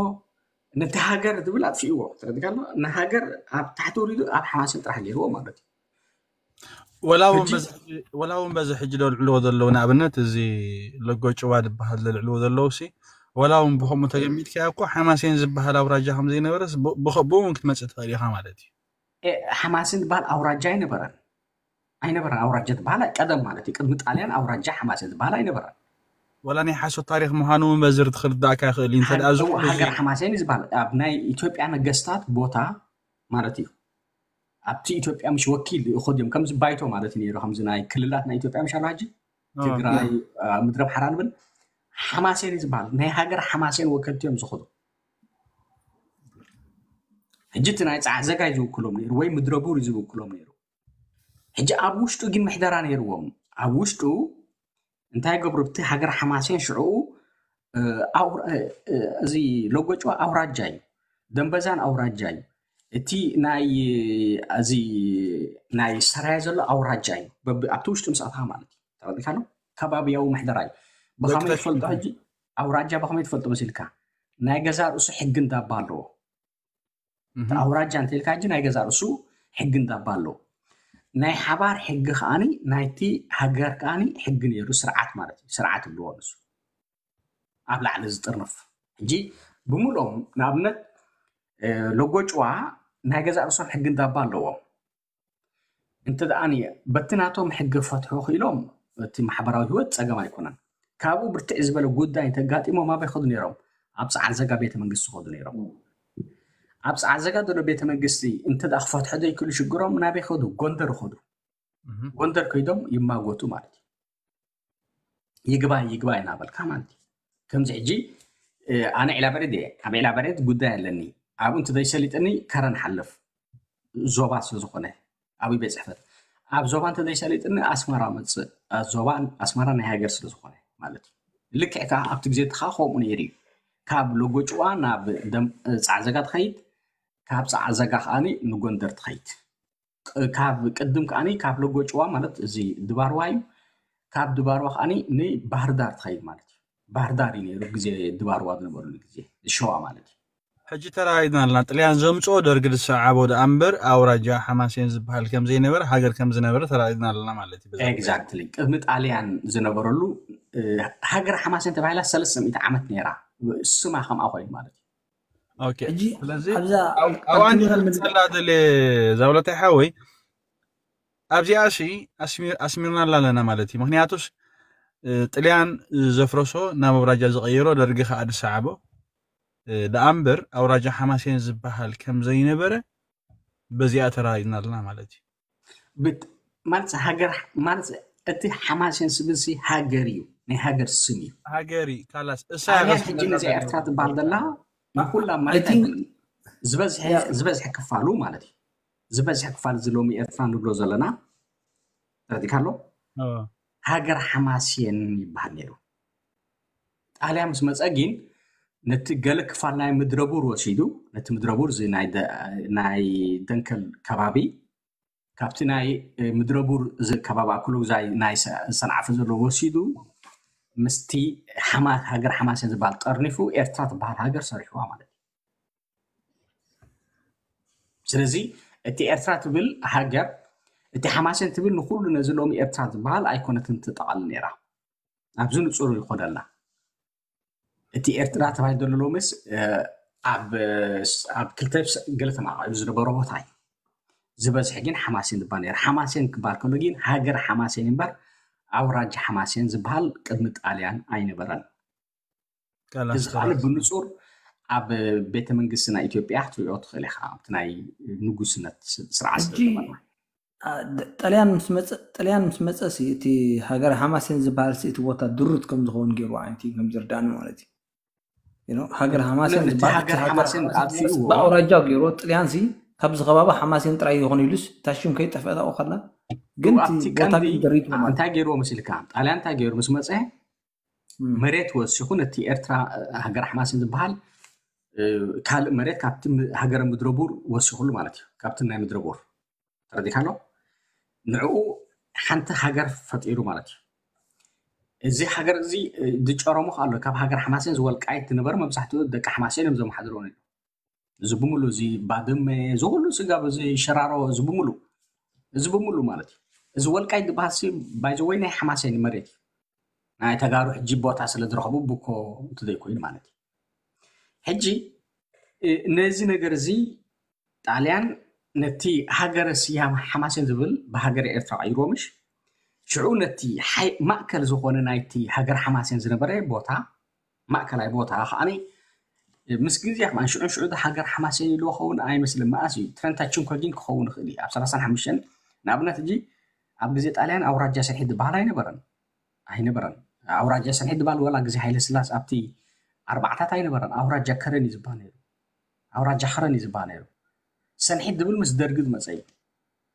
ነቲ ሃገር ዝብል ኣጥፊእዎ። ተረድካ ኣሎ? ንሃገር ኣብ ታሕቲ ወሪዱ ኣብ ሓማሴን ጥራሕ ገይርዎ ማለት እዩ። ወላ እውን በዚ ሕጂ ዘልዕልዎ ዘለዉ ንኣብነት እዚ ለጎ ጭዋ ዝበሃል ዘልዕልዎ ዘለዉ ሲ ወላ እውን ብከምኡ ተገሚትካ እኮ ሓማሴን ዝበሃል ኣውራጃ ከም ዘይነበረስ ብኡ እውን ክትመፅእ ትኽእል ኢኻ ማለት እዩ። ሓማሴን ዝበሃል ኣውራጃ ኣይነበረን ኣይነበረን። ኣውራጃ ዝበሃል ቀደም ማለት እዩ። ቅድሚ ጣልያን ኣውራጃ ሓማሴን ዝበሃል ኣይነበረን። ወላ ናይ ሓሶት ታሪክ ምዃኑ እውን በዚ ክትርዳእካ ይኽእል እዩ። እንተ ደኣ እዚ ኩሉ እዚ ሃገር ሓማሴን እዩ ዝበሃል ኣብ ናይ ኢትዮጵያ ነገስታት ቦታ ማለት እዩ። ኣብቲ ኢትዮጵያ ምሽ ወኪል ይኸዱ እዮም። ከምዚ ባይቶ ማለት እዩ ነይሩ። ከምዚ ናይ ክልላት ናይ ኢትዮጵያ ምሽ ኣሎ ሕጂ ትግራይ፣ ምድረ ባሕራ ንብል ሓማሴን እዩ ዝበሃል። ናይ ሃገር ሓማሴን ወከልቲ እዮም ዝኸዱ። ሕጂ እቲ ናይ ፃዕዘጋይ ዝውክሎም ነይሩ ወይ ምድረ ቡር እዩ ዝውክሎም ነይሩ። ሕጂ ኣብ ውሽጡ ግን ምሕደራ ነይርዎም። ኣብ ውሽጡ እንታይ ገብሩ? ኣብቲ ሃገር ሓማሴን ሽዑ እዚ ሎጎጭዋ ኣውራጃ እዩ፣ ደንበዛን ኣውራጃ እዩ። እቲ ናይ እዚ ናይ ሰራየ ዘሎ ኣውራጃ እዩ። ኣብቲ ውሽጡ ምስ ኣትኻ ማለት እዩ። ተረዲካ ኣሎ? ከባብያዊ ምሕደራ እዩ። ብኸመይ ትፈልጦ? ሕጂ ኣውራጃ ብኸመይ ትፈልጦ መሲልካ? ናይ ገዛ ርእሱ ሕጊ እንዳባ ኣለዎ። ኣውራጃ እንተልካ ሕጂ ናይ ገዛ ርእሱ ሕጊ እንዳባ ኣለዎ። ናይ ሓባር ሕጊ ከዓኒ ናይቲ ሃገር ከዓኒ ሕጊ ነይሩ፣ ስርዓት ማለት እዩ። ስርዓት ይብልዎ ንሱ ኣብ ላዕሊ ዝጥርንፍ። ሕጂ ብምልኦም ንኣብነት ሎጎጭዋ ናይ ገዛ ርእሶም ሕጊ እንዳባ ኣለዎም። እንተ ደኣ በቲ ናቶም ሕጊ ፈትሑ ክኢሎም እቲ ማሕበራዊ ህይወት ፀገም ኣይኮነን። ካብኡ ብርትዕ ዝበለ ጉዳይ እንተጋጢሞም ኣበይ ከዱ ነይሮም? ኣብ ፃዕል ዘጋ ቤተ መንግስቲ ከዱ ነይሮም። ኣብ ፃዕል ዘጋ ዘሎ ቤተ መንግስቲ እንተ ደኣ ክፈትሑ ዘይክእሉ ሽግሮም ናበይ ከዱ? ጎንደር ከዱ። ጎንደር ከይዶም ይማጎቱ ማለት እዩ። ይግባይ ይግባይ እናበልካ ማለት እዩ። ከምዚ ሕጂ ኣነ ዒላበሬድ እየ፣ ኣብ ዒላበሬድ ጉዳይ ኣለኒ፣ ኣብኡ እንተ ዘይሰሊጥኒ ከረን ሓልፍ ዞባ ስለ ዝኾነ ኣብይ ቤት ፅሕፈት ኣብ ዞባ እንተ ዘይሰሊጥኒ ኣስመራ መፅእ። ዞባ ኣስመራ ናይ ሃገር ስለ ዝኾነ ማለት እዩ። ልክዕ ከዓ ኣብቲ ግዜ እቲ ከዓ ከምኡ ነይሩ እዩ። ካብ ሎጎጭዋ ናብ ፃዕዘጋ ትኸይድ ካብ ፃዕዘጋ ከዓኒ ንጎንደር ትኸይድ። ቅ- ካብ ቅድም ከዓኒ ካብ ለጎጭዋ ማለት እዚ ድባርዋ እዩ። ካብ ድባርዋ ከዓኒ ንባህር ዳር ትኸይድ ማለት እዩ። ባህር ዳር እዩ ነይሩ ግዜ ድባርዋ ዝነበሩሉ ግዜ ሸዋ ማለት እዩ። ሕጂ ተረጋጊጽና ኣለና። ጥልያን ዘምጽኦ ደርጊ ዝሰዓቦ ደኣ እምበር ኣውራጃ ሓማሴን ዝበሃል ከም ዘይነበረ፣ ሃገር ከም ዝነበረ ተረጋጊጽና ኣለና ማለት እዩ። በዛ ጉዳይ። ኤግዛክትሊ። ቅድሚ ጣልያን ዝነበረሉ እ፣ ሃገር ሓማሴን ተባሂላ ሰለስተ ሚእቲ ዓመት ነይራ። ስማ ከምኣ ኮይኑ ማለት እዩ። ኦኬ። ሕጂ ስለዚ ኣብዛ ኣብ- ኣብኣ ንመልሰላ ደለ ዛውለታይ ሓወይ ኣብዚኣ ሲ ኣስሚ- ኣስሚርናላ ኣለና ማለት እዩ። ምክንያቱስ እ፣ ጥልያን ዘፍረሶ ናብ ኣውራጃ ዝቐየሮ ደርጊ ከዓ ዝሰዓቦ እ፣ ደኣ እምበር ኣውራጃ ሓማሴን ዝበሃል ከም ዘይነበረ በዚኣ ተረጋጊጽና ኣለና ማለት እዩ። ብት- ማለት ሃገር ማለት እቲ ሓማሴን ስብል ሲ ሃገር እዩ፣ ናይ ሃገር ስም እዩ። ሃገሪ ካላስ እሳ ጣልያን ሕጂ ነዚ ኤርትራ ትበሃል ዘላ ንኩላ ማለት I think- ኣይኮነን። ዝበዝሐ Yeah. ዝበዝሐ ክፋሉ ማለት እዩ። ዝበዝሐ ክፋል እዚ ሎሚ ኤርትራ ንብሎ ዘለና ተረዲካ ኣሎ። ኦ፣ ሃገር ሓማሴን ይበሃል ነይሩ። ጣልያን ምስ መፀ ግን ነቲ ገለ ክፋል ናይ ምድረቡር ወሲዱ፣ ነቲ ምድረቡር እዚ ናይ ደ- ናይ ደንከል ከባቢ ካብቲ ናይ እ፣ ምድረቡር እዚ ከባቢ ኣክሉግዛይ ናይ ሰ- ሰንዓፈ ዘሎ ወሲዱ ምስቲ ሓማ- ሃገር ሓማሴን ዝበሃል ጠርኒፉ ኤርትራ ትበሃል ሃገር ሰሪሕዋ ማለት እዩ። ስለዚ እቲ ኤርትራ ትብል ሃገር እቲ ሓማሴን ትብል ንኩሉ ነዚ ሎሚ ኤርትራ ዝበሃል ኣይኮነትን ትጠቓልል ነይራ። ኣብዚ ንጹር ይኾነልና። እቲ ኤርትራ ተባሂሉ ዘሎ ሎምስ እ፣ ኣብ እ፣ ኣብ ክልተ ስ- ገለ ተማቃቂሉ ዝነበረ ቦታ እዩ። ዝበዝሐ ግን ሓማሴን ዝበሃል ነይሩ። ሓማሴን ክበሃል ከሎ ግን ሃገር ሓማሴን እምበር ኣውራጃ ሓማሴን ዝበሃል ቅድሚ ጣልያን ኣይነበረን። ካላስ እዚ ከዓ ብንጹር ኣብ ቤተ መንግስቲ ናይ ኢትዮጵያ ክትሪኦ ትኽእል ኢኻ። ኣብቲ ናይ ንጉስነት ስ- ስርዓት ሕጂ ስለዝነበርና አ፣ ደ- ጣልያን ምስ መፀ ጣልያን ምስ መፀ ሲ እቲ ሃገር ሓማሴን ዝበሃል ሲ እቲ ቦታ ድሩት ከም ዝኸውን ገይሩ ዓይነት እዩ ከም ዝርዳኒ ማለት እዩ። You know፣ ሃገር ሓማሴን ነቲ ዝበሃል ሃገር እቲ ሃገር ሓማሴን ሓማሴን ኣጥፊእዎ በኣውራጃ ገይሩ ጥልያን ሲ ካብዚ ከባቢ ሓማሴን ጥራይ ይኾን ኢሉስ እታ ሽም ከይጠፍአ ኣብኡ ከላ ግን እዋ እቲ ኣብቲ ቦታ ቀንዲ ግን ደሪቱ ማለት እንታይ ገይርዎ መሲልካ? ጣልያን እንታይ ገይሩ ምስ መፀ እም። መሬት ወሲኹ ነቲ ኤርትራ እ፣ ሃገር ሓማሴን ዝበሃል እ፣ ካልእ መሬት ካብቲ ም- ሃገረ ምድረቡር ወሲኹሉ ማለት እዩ። ካብቲ ናይ ምድረቡር ተረዲካ ኣሎ። ንዕኡ ሓንቲ ሃገር ፈጢሩ ማለት እዩ። እዚ ሃገር እዚ እ፣ ዝጨረሙ ኣሎ። ካብ ሃገር ሓማሴን ዝወልቃይት ዝነበረ መብዛሕትኡ ደቂ ሓማሴን እዮም ዘመሓድርዎ ነይሩ። እዚ ብምሉ እዚ ባድመ እዚ ኩሉ ስጋብ እዚ ሸራሮ እዚ ብምሉ እዚ ብምሉ ማለት እዩ። እዚ ወልቃይት ዝበሃል ሲ ባይዘወይ ናይ ሓማሴን መሬት እዩ። ናይ ተጋሩ ሕጂ ቦታ ስለ ዝረኸቡ ብኮ እንተዘይኮይኑ ማለት እዩ። ሕጂ እ፣ ነዚ ነገር እዚ ጣልያን ነቲ ሃገረ ስያመ ሓማሴን ዝብል ብሃገረ ኤርትራ ቀይርዎ ምሽ ሽዑ ነቲ ሓይ- ማእከል ዝኾነ ናይቲ ሃገር ሓማሴን ዝነበረ ቦታ ማእከላይ ቦታ ከዓኒ ምስ ግዜ ከማን ሽዑ ሽዑ ሃገር ሓማሴን ኢልዎ ኸውን ኣይመስልን። መኣስ እዩ ትረንታ ችንኮጊን ክኸውን ይኽእል እዩ ኣብ ሰላሳን ሓሙሽተን ንኣብነት እጂ ኣብ ግዜ ጣልያን ኣውራጃ ሰንሒት ዝበሃል ኣይነበረን ኣይነበረን ኣውራጃ ሰንሒት ዝበሃል ወላ ግዜ ሃይለ ስላስ ኣብቲ ኣርባዕታት ኣይነበረን ኣውራጃ ከረን እዩ ዝበሃል ነይሩ ኣውራጃ ከረን እዩ ዝበሃል ነይሩ ሰንሒት ዝብል ምስ ደርጊ ዝመፀ እዩ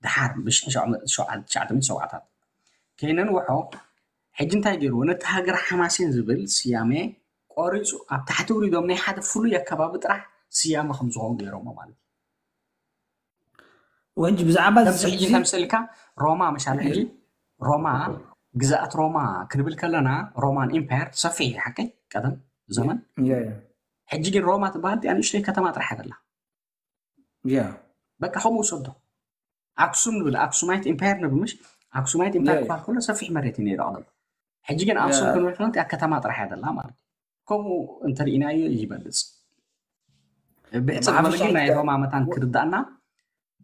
ድሓር ብሽሕሸዓተሚት ሸውዓታት ከይነንውሖ ሕጂ እንታይ ገይርዎ ነቲ ሃገር ሓማሴን ዝብል ስያሜ ቆሪፁ ኣብ ታሕቲ ውሪዶም ናይ ሓደ ፍሉይ ኣከባቢ ጥራሕ ስያመ ከም ዝኸውን ገይሮሞ ማለት እዩ ወንጂ ብዛዕባ ከምዚ ሕጂ ተምሰልካ ሮማ መሻለ ሕጂ ሮማ ግዛኣት ሮማ ክንብል ከለና ሮማን ኢምፓየር ሰፊሕ ሓቀይ ቀደም ዘመን ሕጂ ግን ሮማ ትበሃል ያ ንእሽተይ ከተማ ጥራሕ ኣይደላ ያ በቃ ከምኡ ውሰዶ ኣክሱም ንብል ኣክሱማይት ኢምፓየር ንብል ምሽ ኣክሱማይት ኢምፓየር ያ። ክበሃል ከሎ ሰፊሕ መሬት እዩ ነይሩ ቀደም ሕጂ ግን ኣክሱም ያ። ክንብል ከለና ያ ከተማ ጥራሕ ኣይደላ ማለት እዩ ከምኡ እንተርኢናዮ ይበልፅ ብሕፅር ብሓፈሻ ዝበለ ግን ናይ ኢትዮጵያ- ሮማ መታን ክርዳእና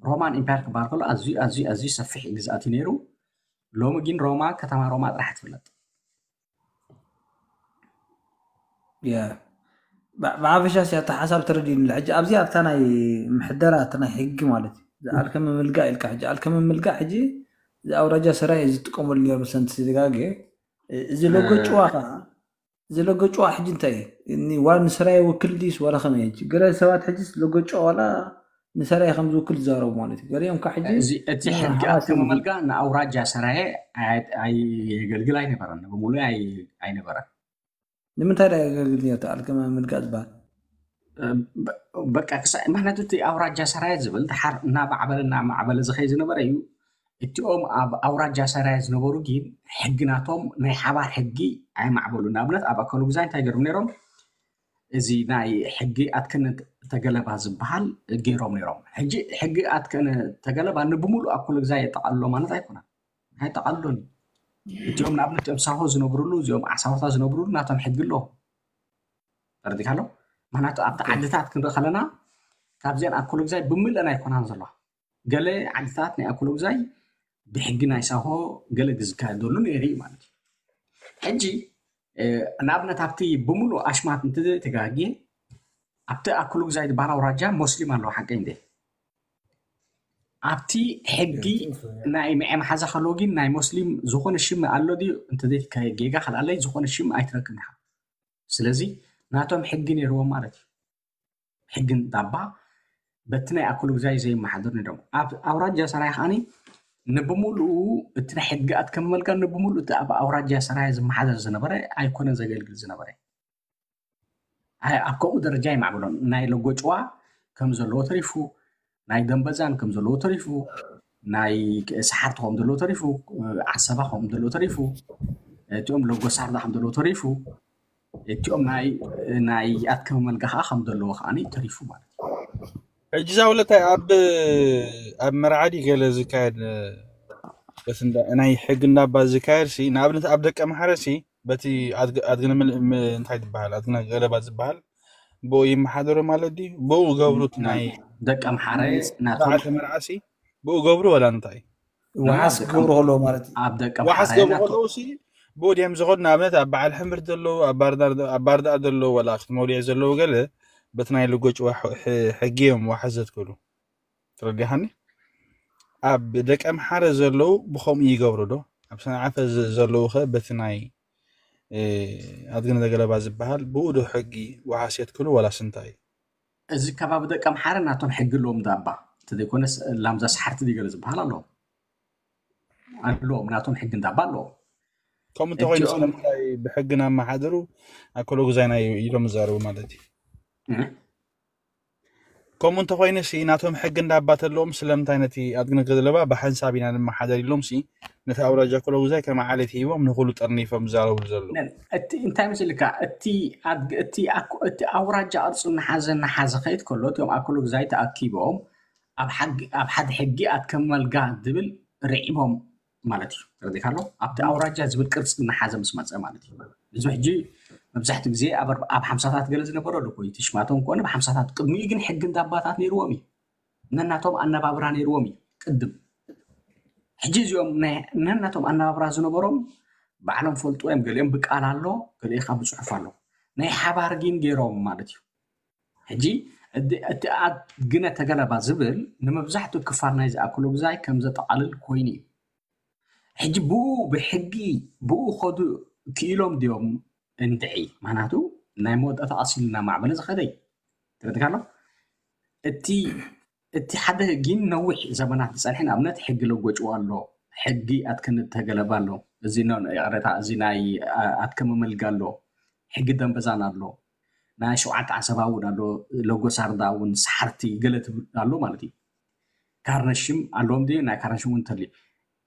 ሮማን ኢምፓየር ክበሃል ከሎ ኣዝዩ ኣዝዩ ኣዝዩ ሰፊሕ ግዝኣት እዩ ነይሩ ሎሚ ግን ሮማ ከተማ ሮማ ጥራሕ ትፍለጥ ያ ብ- ብሓፈሻ ሲ ኣታ ሓሳብ ተረዲእኒ ሕጂ ኣብዚ ኣብታ ናይ ምሕደራ እቲ ናይ ሕጊ ማለት እዩ ዝኣልከ ምምልጋእ ኢልካ ሕጂ ኣልከ ምምልጋእ ሕጂ እዚ ኣውራጃ ሰራይ ዝጥቀመሉ ነይሩ መሰንቲ ስጋጌ እዚ ሎጎ ጭዋ ከዓ እዚ ሎጎ ጭዋ ሕጂ እንታይ እዩ ዋላ ንሰራይ ውክል ድዩስ ዋላ ከመይ ሕጂ ገለ ሰባት ሕጂ ሎጎ ጭዋ ዋላ ንሰራይ ከም ዝውክል ዝዛረቡ ማለት እዩ ገሊኦም ከዓ ሕጂ እዚ እቲ ሕጊ ሓማሴን ኣከማመልጋ ንኣውራጃ ሰራየ ኣይ- ኣይ- የገልግል ኣይነበረን ብሙሉ ኣይ- ኣይነበረን ንምንታይ ዳ የገልግል ነርታ ኣልከመ ምልጋእ ዝበሃል በቃ ክሳ- ምክንያቱ እቲ ኣውራጃ ሰራየ ዝብል ድሓር እናማዕበለ እናማዕበለ ዝኸይ ዝነበረ እዩ። እቲኦም ኣብ ኣውራጃ ሰራየ ዝነበሩ ግን ሕጊ ናቶም ናይ ሓባር ሕጊ ኣይማዕበሉ። ንኣብነት ኣብ ኣከሉ ግዛይ እንታይ ገይሮም ነይሮም? እዚ ናይ ሕጊ ኣትከነ ተገለባ ዝበሃል ገይሮም ነይሮም። ሕጂ ሕጊ ኣትከነ ተገለባ ንብሙሉ ኣከሉ ግዛይ የጠቃልሎ ማለት ኣይኮነን፣ ኣይጠቃልሎን እዩ። እቲኦም ንኣብነት እቲኦም ሳሆ ዝነብሩሉ፣ እዚኦም ዓሳውታ ዝነብሩሉ ናቶም ሕጊ ኣለዎም። ተረዲካ ኣሎ። ምክንያቱ ኣብቲ ዓድታት ክንርኢ ከለና ካብዚኣን ኣከሉ ግዛይ ብምልአን ኣይኮናን ዘለዋ። ገለ ዓድታት ናይ ኣከሉ ግዛይ ብሕጊ ናይ ሳሆ ገለ ዝካየደሉ ነይሩ እዩ ማለት እዩ። ሕጂ ንኣብነት ኣብቲ ብምሉእ ኣሽማት እንተዘይተጋግየ ኣብቲ ኣክሉግዛይ ዝበሃል ኣውራጃ ሞስሊም ኣለዎ ሓቀይ እንደ ኣብቲ ሕጊ ናይ ምዐ መሓዛ ከለዎ ግን ናይ ሞስሊም ዝኾነ ሽም ኣሎ ድዩ እንተዘይ ጌጋ ካልኣለይ ዝኾነ ሽም ኣይትረክብ ኢኻ። ስለዚ ናቶም ሕጊ ነይርዎም ማለት እዩ። ሕግን ዳባ በቲ ናይ ኣክሉግዛይ ዘይመሓደር ነይሮም ኣብ ኣውራጃ ሰራይ ከዓኒ ንብሙሉኡ እቲ ናይ ሕጊ ኣትከመመልካ ንብሙሉኡ እቲ ኣብ ኣውራጃ ሰራይ ዝመሓደር ዝነበረ ኣይኮነን ዘገልግል ዝነበረ። ኣብ ከምኡ ደረጃ ይማዕብሎም ናይ ለጎጭዋ ከም ዘለዎ ተሪፉ ናይ ደንበዛን ከም ዘለዎ ተሪፉ ናይ ሰሓርቲ ከም ዘለዎ ተሪፉ ዓሰባ ከም ዘለዎ ተሪፉ እቲኦም ለጎሳርዳ ከም ዘለዎ ተሪፉ እቲኦም ናይ ኣትከመመልጋ ከዓ ከም ዘለዎ ከዓ ተሪፉ ማለት እዩ። ሕጂ ዛውለታይ ኣብ ኣብ መርዓዲ ገለ ዝካየድ ናይ ሕጊ እንዳባ ዝካየድ ሲ ንኣብነት ኣብ ደቀ ማሕረ ሲ በቲ ኣድግነ እንታይ ትበሃል ኣድግነ ገለባ ዝበሃል ብኡ ይመሓደሩ ማለት ድዩ? ብኡ ገብሩት ናይ ደቀ ማሕረ ናቶም ስርዓተ መርዓ ሲ ብኡ ገብሩ ወላ እንታይ ዋሓስ ክገብሩ ከለዎ ማለት እዩ። ኣብ ደቀ ዋሓስ ማሕረ ገብሩ ናቶም ከለዉ ሲ ብኡ ድዮም ዝኸዱ ንኣብነት ኣብ በዓል ሕምብርቲ ዘለዉ ኣብ ባርዳር ኣብ ባርዳኣ ዘለዉ ወላ ክትመልዮ ዘለዉ ገለ በቲ ናይ ልጎጭዋ ሕጊ እዮም ዋሓስ ዘትክሉ። ተረዲኻኒ? ኣብ ደቀ ምሓረ ዘለዉ ብኸምኡ ይገብሩ ዶ? ኣብ ሰንዓፈ ዘለዉ ኸ በቲ ናይ ኣድግነ ዘገለባ ዝበሃል ብኡ ዶ ሕጊ ዋሓስ የትክሉ ወላስ እንታይ እዩ? እዚ ከባቢ ደቀ ምሓረ ናቶም ሕጊ ኣለዎም ዳባ እንተዘይኮነስ ላምዛ ሰሓርቲ ድዩ ገለ ዝበሃል ኣለዎም ኣለዎም ናቶም ሕጊ እንዳባ ኣለዎም። ከምኡ እንተኮይኑ እቲኦም- ስለምንታይ ብሕጊ ናብ መሓደሩ ኣከሎ ግዛይና ኢሎም ዝዛረቡ ማለት እዩ? እህ። ከምኡ እንተኮይኑ ሲ ናቶም ሕጊ እንዳባ ተለዎም ስለምንታይ ነቲ ኣድግነ ዘለባ ብሓንሳብ ኢና ንመሓደር ኢሎም ሲ ነቲ ኣውራጃ ኣከሎ ግዛይ ከም ዓሌት ሂቦም ንኩሉ ጠርኒፎም ዝዛረቡ ዘለዉ? እቲ እንታይ መስልካ እቲ ኣድግ- እቲ ኣኮ- እቲ ኣውራጃ ቅርፂ እናሓዘ እናሓዘ ከይድ ከሎ እቲኦም ኣክሉ ግዛይ ተኣኪቦም ኣብ ሓጊ- ኣብ ሓደ ሕጊ ኣትከም መልጋ ዝብል ርዒሞም ማለት እዩ። ተረዲካ ኣሎ ኣብቲ ኣውራጃ ዝብል ቅርፂ እናሓዘ ምስ መፀ ማለት እዩ። እዚ ሕጂ መብዛሕትኡ ግዜ ኣብ ኣርባ- ኣብ ሓምሳታት ገለ ዝነበረ ኣሎ ኮይኑ ትሽማቶም ኮነ ብሓምሳታት ቅድሚኡ ግን ሕጊ እንዳባታት ነይርዎም እዩ። ነናቶም ኣነባብራ ነይርዎም እዩ ቅድም። ሕጂ እዚኦም ናይ- ነናቶም ኣነባብራ ዝነበሮም ባዕሎም ፈልጡ እዮም። ገሊኦም ብቃል ኣሎ፣ ገሊኡ ካብ ብፅሑፍ ኣሎ። ናይ ሓባር ግን ገይሮም ማለት እዩ። ሕጂ እቲ እቲ ኣድግነ ተገለባ ዝብል ንመብዛሕትኡ ክፋል ናይ ዝኣክሎ ግዛይ ከም ዘጠቓልል ኮይኑ እዩ። ሕጂ ብኡ ብሕጊ ብኡ ከዱ ክኢሎም ድዮም እንድዒ? ምክንያቱ ናይ መወዳእታ ቀስ ኢሉ እናማዕበለ ዝኸደ እዩ። ተረዲካ ኣሎ? እቲ እቲ ሓደ ግን ነዊሕ ዘመናት ዝፀንሐ ንኣብነት ሕጊ ለጎጭዋ ኣሎ፣ ሕጊ ኣትክን ተገለባ ኣሎ፣ እዚ ኖ- ይቕሬታ፣ እዚ ናይ ኣትከመ መልጋ ኣሎ፣ ሕጊ ደንበዛን ኣሎ፣ ናይ ሸውዓተ ዓሰባ እውን ኣሎ፣ ለጎሳርዳ እውን ሰሓርቲ ገለ ትብል ኣሎ ማለት እዩ። ካርነሽም ኣለዎም ድዩ? ናይ ካርነሽም እውን እንተልዩ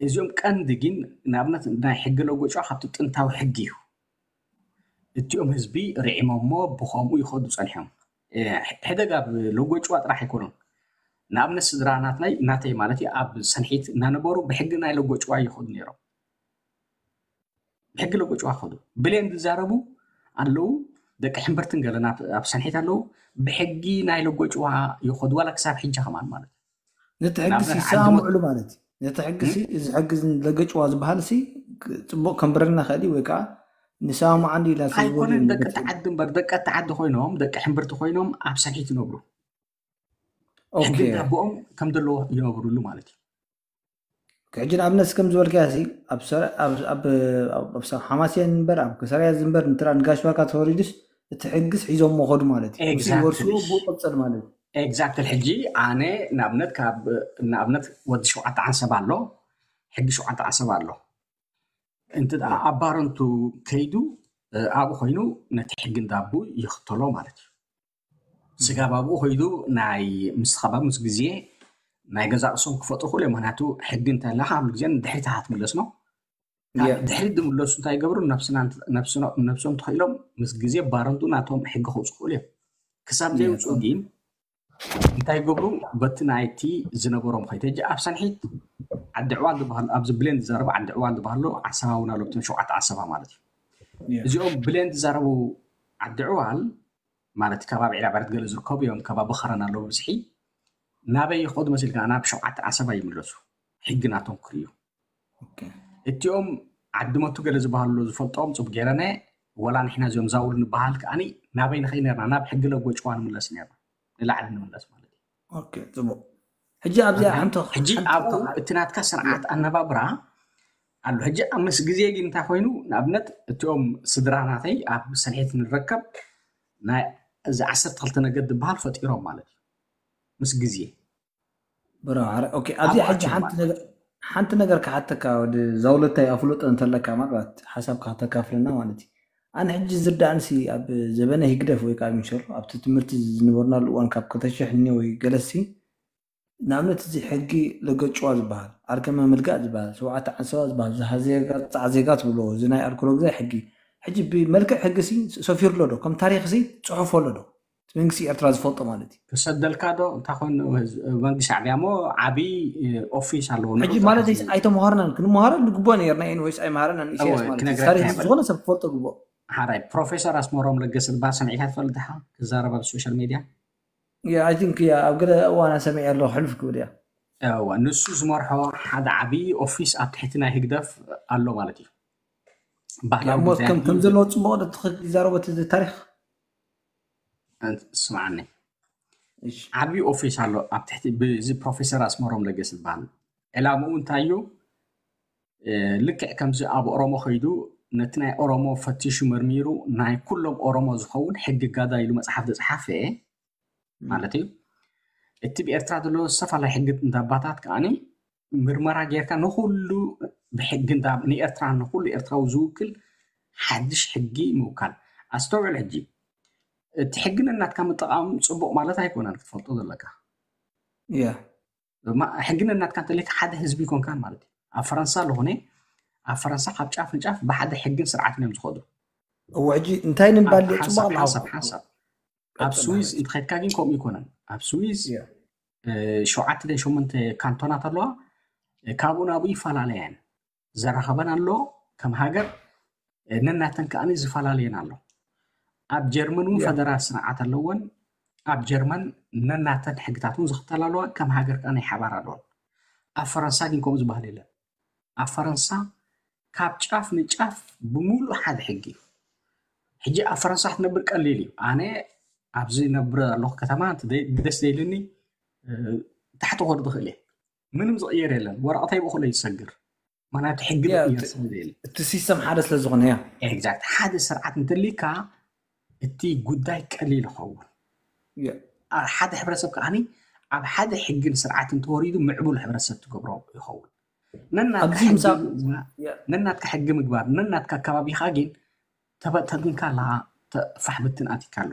እዚኦም ቀንዲ ግን ንኣብነት ናይ ሕጊ ለጎጭዋ ካብቲ ጥንታዊ ሕጊ እዩ። እቲኦም ህዝቢ ርዒሞሞ ብኸምኡ ይኸዱ ፀኒሖም። ሕደግ ኣብ ለጎጭዋ ጥራሕ ኣይኮኑን። ንኣብነት ስድራ ናትናይ ናተይ ማለት እዩ ኣብ ሰንሒት እናነበሩ ብሕጊ ናይ ለጎጭዋ ይኸዱ ነይሮም። ብሕጊ ለጎጭዋ ይኸዱ ብሌን ዝዛረቡ ኣለዉ። ደቂ ሕምብርትን ገለና ኣብ ሰንሒት ኣለዉ። ብሕጊ ናይ ለጎጭዋ ይኸዱ ዋላ ክሳብ ሕጂ ከማን ማለት እዩ። ነቲ ሕጊ ንኣብነት ሲ ዓዲ ይሰማምዕሉ ማለት እዩ። ነቲ ሕጊ ሲ እዚ ሕጊ እዚ ለገጭዋ ዝበሃል ሲ ጽቡቅ ከንብረልና ክእል እዩ ወይ ከዓ ንሰማምዓሉ ኢላ ሲ ዝበሉ ኣይኮነን እዮም ደቂ ዝገልጹ። ተዓዲ እምበር ደቂ ተዓዲ ኮይኖም ደቂ ሕምብርቲ ኮይኖም ኣብ ሰንሒት ይነብሩ። ኦኬ። ሕጊ እንዳቦኦም ከም ዘለዎ ይነብሩሉ ማለት እዩ። ሕጂ ንኣብነት ከም ዝበልካያ ሲ ኣብ ሰረ- ኣብ- ኣብ- ኣብ- ኣብ ሓማስያን እምበር ኣብ ከሰራያ ዝንበር ንትራ ንጋሽ ባካ ተወሪዱስ እቲ ሕግስ ሒዞም መኸዱ ማለት እዩ። እሱ Exactly. ወርሱ ብኡ ቀጽል ማለት እዩ። ኤግዛክትሊ። ሕጂ ኣነ ንኣብነት ካብ ንኣብነት ወዲ ሸውዓተ ዓንሰብ ኣሎ፣ ሕጊ ሸውዓተ ዓንሰብ ኣሎ። እንተ ደኣ ኣብ ባረንቱ ከይዱ እ፣ ኣብኡ ኮይኑ ነቲ ሕጊ እንዳቡ ይኽተሎ ማለት እዩ። ስጋብ ኣብኡ ከይዱ ናይ ምስትኻባብ ምስ ግዜ ናይ ገዛ ቅሶም ክፈጥሩ ክእሉ እዮም። ምክንያቱ ሕጊ እንተላ ካብ ግዜ ንድሕሪት ኢኻ ትምለስ ነው። ካብ ድሕሪት ዝምለሱ እንታይ ይገብሩ? ነብሶም ተኽኢሎም ምስ ግዜ ባረንቱ ናቶም ሕጊ ከውፁ ክእሉ እዮም። ክሳብ ዘይውፅኡ ግን እንታይ ይገብሩ? በቲ ናይቲ ዝነበሮም ከይተጀ ኣብ ሰንሒት ዓዲ ዕዋል ዝበሃሉ ኣብዚ ብሌን ዝዛረቡ ዓዲ ዕዋል ዝበሃሉ ዓሰባ እውን ኣሎ። እቶም ሸውዓተ ዓሰባ ማለት እዩ። እዚኦም ብሌን ዝዛረቡ ዓዲ ዕዋል ማለት ከባቢ ዒላ ባረት ገለ ዝርከቡ እዮም። ከባቢ ኸረን ኣለዉ ብዝሒ ናበይ ይኸዱ መሲልካ ናብ ሸውዓተ ዓሰባ ይምለሱ። ሕጊ ናቶም ክርእዩ እቲኦም ዓዲ መቱ ገለ ዝበሃሉ ዝፈልጦም ፅቡቅ ገይረነ ወላ ንሕና እዚኦም ዛውል ንበሃል ከዓኒ ናበይ ንኸይ ነርና ናብ ሕጊ ለጎጭዋ ንምለስ ነርና ንላዕሊ ንምለስ ማለት እዩ። ጽቡቅ። ሕጂ ኣብዚኣ ሓንቲ ሕጂ ኣብኡ እቲ ናትካ ስርዓት ኣነባብራ ኣሎ። ሕጂ ምስ ግዜ ግን እንታይ ኮይኑ ንኣብነት እቲኦም ስድራ ናተይ ኣብ ሰንሒት ንረከብ ናይ እዚ ዓሰርተ ክልተ ነገድ ዝበሃል ፈጢሮም ማለት እዩ። ምስ ግዜ ኣብዚኣ ሕጂ ሓንቲ ነገር ክሓተካ ወዲ ዛውለታይ ኣፍልጦ እንተለካ ማለት ሓሳብ ከተካፍለና ማለት እዩ። ኣነ ሕጂ ዝርዳእንሲ ኣብ ዘበነ ህግደፍ ወይ ከዓ ሚሸር ኣብቲ ትምህርቲ ዝነበርናሉ እዋን ካብ ክልተ ሽሕ እኒ ወይ ገለሲ ንኣብነት እዚ ሕጊ ለገጭዋ ዝበሃል ኣርከመ ምልጋእ ዝበሃል ሸውዓተ ዓሰባ ዝበሃል ዝሃ ዜጋ ፃዕ ዜጋ ትብሎ እዚ ናይ ኣልኮሎ ግዛይ ሕጊ ሕጂ ብመልክዕ ሕጊ ሲ ሰፊሩ ኣሎ ዶ ከም ታሪክ ሲ ፅሑፍ ኣሎ ዶ መንግስቲ ኤርትራ ዝፈልጦ ማለት እዩ። ክሰደልካ ዶ እንታይ ኮን መንግስቲ ሻዕቢያ ሞ ዓብይ ኦፊስ ኣለዎ። ሕጂ ማለት ኣይተምሃርናን ክንምሃሮ ንግቦ ነርና ኢን ወይስ ኣይምሃረናን ኢሳያስ ማለት እዩ። ታሪክ ዝኾነ ሰብ ክፈልጦ ግቦ። ሓራይ ፕሮፌሰር ኣስመሮም ለገሰ ዝበሃል ሰሚዕካ ትፈልጥ ዲኻ? ክዛረብ ኣብ ሶሻል ሜድያ I think ኣብ ገለ እዋና ሰሚዐ ኣለኹ ሕልፍ ክብል እያ። እዋ ንሱ ዝመርሖ ሓደ ዓብዪ ኦፊስ ኣብ ትሕቲ ናይ ህግደፍ ኣሎ ማለት እዩ። ባህላዊ ሞት ከም ከም ዘለዎ ጽቡቕ ዶ ትኽክል ይዛረቦ እቲ ታሪኽ? ስምዓኒ ዓብዪ ኦፊስ ኣሎ ኣብ ትሕቲ ብዚ ፕሮፌሰር ኣስመሮም ለገስ ዝበሃል ዕላምኡ እንታይ እዩ? ልክዕ ከምዚ ኣብ ኦሮሞ ከይዱ ነቲ ናይ ኦሮሞ ፈቲሹ መርሚሩ ናይ ኩሎም ኦሮሞ ዝኸውን ሕጊ ጋዳ ኢሉ መፅሓፍ ዝፀሓፈ ማለት እዩ። እቲ ብኤርትራ ዘሎ ዝተፈላለዩ ሕጊ እንዳባታት ከዓኒ ምርመራ ጌርካ ንኩሉ ብሕጊ ንኤርትራ ንኩሉ ኤርትራዊ ዝውክል ሓድሽ ሕጊ ምውካል። ኣስተውዕል ሕጂ እቲ ሕጊ ነናትካ ምጥቃም ፅቡቅ ማለት ኣይኮነን ክትፈልጦ ዘለካ። ሕጊ ነናትካ እንተለካ ሓደ ህዝቢ ይኮንካን ማለት እዩ። ኣብ ፈረንሳ ኣለኾነ ኣብ ፈረንሳ ካብ ጫፍ ንጫፍ ብሓደ ሕግን ስርዓትን እዮም ዝኸዱ። እዎ ሕጂ እንታይ ንምባል ድየ ጽቡቕ ኣለዎ። ሓሳብ ሓሳብ ኣብ ስዊዝ እንተኸድካ ግን ከምኡ ይኮነን። ኣብ ስዊዝ ሸውዓተ ድን ሸሞንተ ካንቶናት ኣለዋ። ካብኡ ናብኡ ይፈላለያ እየን። ዘራኸበን ኣሎ ከም ሃገር ነናተን ከዓኒ ዝፈላለየን ኣሎ። ኣብ ጀርመን እውን ፈደራል ስርዓት ኣለወን። ኣብ ጀርመን ነናተን ሕግታት እውን ዝኽተላ ኣለዋ። ከም ሃገር ከዓ ናይ ሓባር ኣለወን። ኣብ ፈረንሳ ግን ከምኡ ዝበሃል የለን። ኣብ ፈረንሳ ካብ ጫፍ ንጫፍ ብምሉእ ሓደ ሕጊ እዩ። ሕጂ ኣብ ፈረንሳ ክትነብር ቀሊል እዩ። ኣነ ኣብዚ ነብር ኣለኹ ከተማ ደስ ዘይልኒ ታሕቲ ክወርድ ይኽእል እየ። ምንም ዝቕየር የለን። ወረቐተይ ብእኹለይ ዝሰግር ምክንያቱ ሕጊ ዝቕየር ስለ ዘየለ እቲ ሲስተም ሓደ ስለ ዝኾነ ያ ኤግዛክት ሓደ ስርዓት እንተሊካ እቲ ጉዳይ ቀሊል ይኸውን። ሓደ ሕብረተሰብ ከዓኒ ኣብ ሓደ ሕግን ስርዓትን ተወሪዱ ምዕቡል ሕብረተሰብ ትገብሮ ይኸውን። ነናትካ ሕጊ ምግባር ነናትካ ከባቢኻ ግን ተበተግንካ ኣለኻ። ፋሕ ብትን ኣቲካ ኣሎ።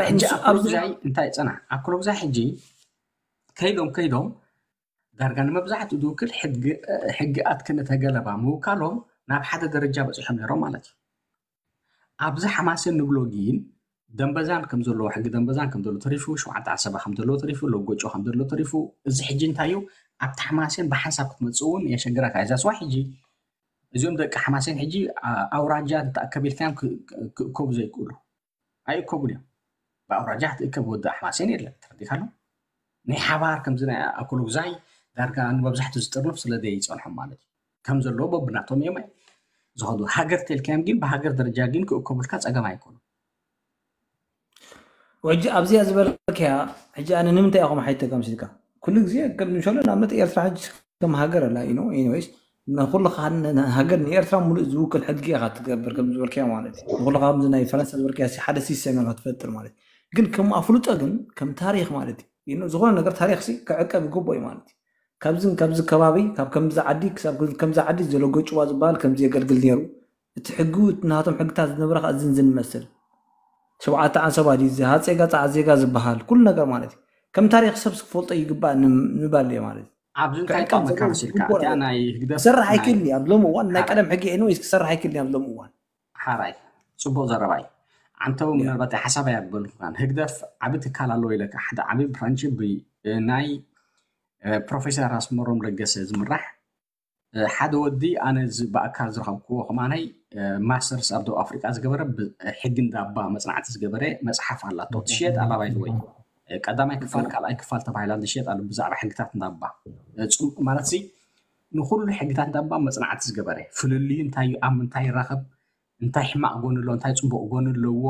ሕጂ ኣኮሎግዛይ እንታይ ፅናሕ ኣኮሎግዛይ ሕጂ ከይዶም ከይዶም ዳርጋ ንመብዛሕትኡ ዝውክል ሕጊ ኣትክነ ተገለባ ምውካሎም ናብ ሓደ ደረጃ በፂሖም ነይሮም ማለት እዩ። ኣብዚ ሓማሴን ንብሎ ግን ደንበዛን ከም ዘለዎ ሕጊ ደንበዛን ከም ዘሎ ተሪፉ ሸውዓተ ዓሰባ ከም ዘለዎ ተሪፉ ሎጎጮ ከም ዘሎ ተሪፉ እዚ ሕጂ እንታይ እዩ ኣብቲ ሓማሴን ብሓንሳብ ክትመፅእ እውን የሸግረካ እዛ ስዋ ሕጂ እዚኦም ደቂ ሓማሴን ሕጂ ኣውራጃ ተኣከብ ኢልካዮም ክእከቡ ዘይክእሉ ኣይእከቡን እዮም። ብኣውራጃ ክትእከብ ወዲ ኣሕማሴን የለን ተረዲካ ኣሎ ናይ ሓባር ከምዚ ናይ ኣኮሎግዛይ ዳርጋ ንመብዛሕትኡ ዝጥርንፍ ስለ ዘይፀንሖም ማለት እዩ። ከም ዘለዎ በብናቶም እዮም ዝኸዱ። ሃገር ተልካዮም ግን ብሃገር ደረጃ ግን ክእከቡልካ ፀገም ኣይኮኑ። ሕጂ ኣብዚኣ ዝበልክያ ሕጂ ኣነ ንምንታይ ኢኹም ሓይተ ከምሲልካ ኩሉ ግዜ ቅድሚ ሸሎ ንኣብነት ኤርትራ ሕጂ ከም ሃገር ኣላ ኢኖ ኢንወይስ ንኩሉ ሃገር ንኤርትራ ሙሉእ ዝውክል ሕጊ ኢኻ ትገብር ከም ዝበልክያ ማለት እዩ። ንኩሉ ከምዚ ናይ ፈረንሳ ዝበልክያ ሓደ ሲስተም ኢኻ ትፈጥር ማለት እዩ። ግን ከም ኣፍልጦ ግን ከም ታሪኽ ማለት እዩ ዝኾነ ነገር ታሪኽ ሲ ክዕቀብ ይግቦ እዩ ማለት እዩ። ካብዝን ካብዚ ከባቢ ካብ ከምዚ ዓዲ ክሳብ ከምዚ ዓዲ ዘሎ ጎጭዋ ዝበሃል ከምዚ የገልግል ነይሩ። እቲ ሕጊ ናቶም ሕግታት ዝነበረ ከዓ ዝን ዝን መስል ስብዓተ ዓንሰባ ድዩ፣ እዚ ሃፀይ ጋፃ ዜጋ ዝበሃል ኩሉ ነገር ማለት እዩ። ከም ታሪክ ሰብ ክፈልጦ ይግባእ ንም- ንባል እየ ማለት እዩ። ኣብዚ እንታይ ካብ ጠቕመካ ዘሎ መሲልካ? ግቡእ እቲኣ ነገር ናይ ህግደፍ ክሰርሕ ናይ ኣይክእልን እዩ። ኣብ ሎም እዋን ናይ ሓራይ ቀደም ሕጊ ኤንወይስ ክሰርሕ ኣይክእልን እዩ ኣብ ሎም እዋን። ሓራይ፣ ጽቡቕ ዘረባ እዩ። ዓንተው፣ ያ። ምናልባት ሓሳብ ኣየበልኩካን። ህግደፍ ዓቢ ትካል ኣለዎ ኢለካ፣ ሓደ ዓቢ ብራንች ብ- ናይ እ፣ ፕሮፌሰር ኣስመሮም ለገሰ ዝምራሕ እ፣ ሓደ ወዲ ኣነ ዝ- ብኣካል ዝረኸብክዎ ከማናይ እ፣ ማስተርስ ኣብ ደቡብ ኣፍሪቃ ዝገበረ ብ- ሕጊ እንዳባ መጽናዕቲ ዝገበረ መጽሓፍ ኣላቶ ትሽየጥ ኣላ ባይዘወይ ቀዳማይ ክፋል ካልኣይ ክፋል ተባሂላ ዝሽየጥ ኣሎ ብዛዕባ ሕግታት እንዳባ እ፣ ጽም- ማለት ዚ ንኩሉ ሕግታት እንዳባ መጽናዕቲ ዝገበረ ፍልልዩ እንታይ እዩ ኣብ ምንታይ ይራኸብ እንታይ ሕማቕ ጎኒ ኣለዎ እንታይ ጽቡቕ ጎኒ ኣለዎ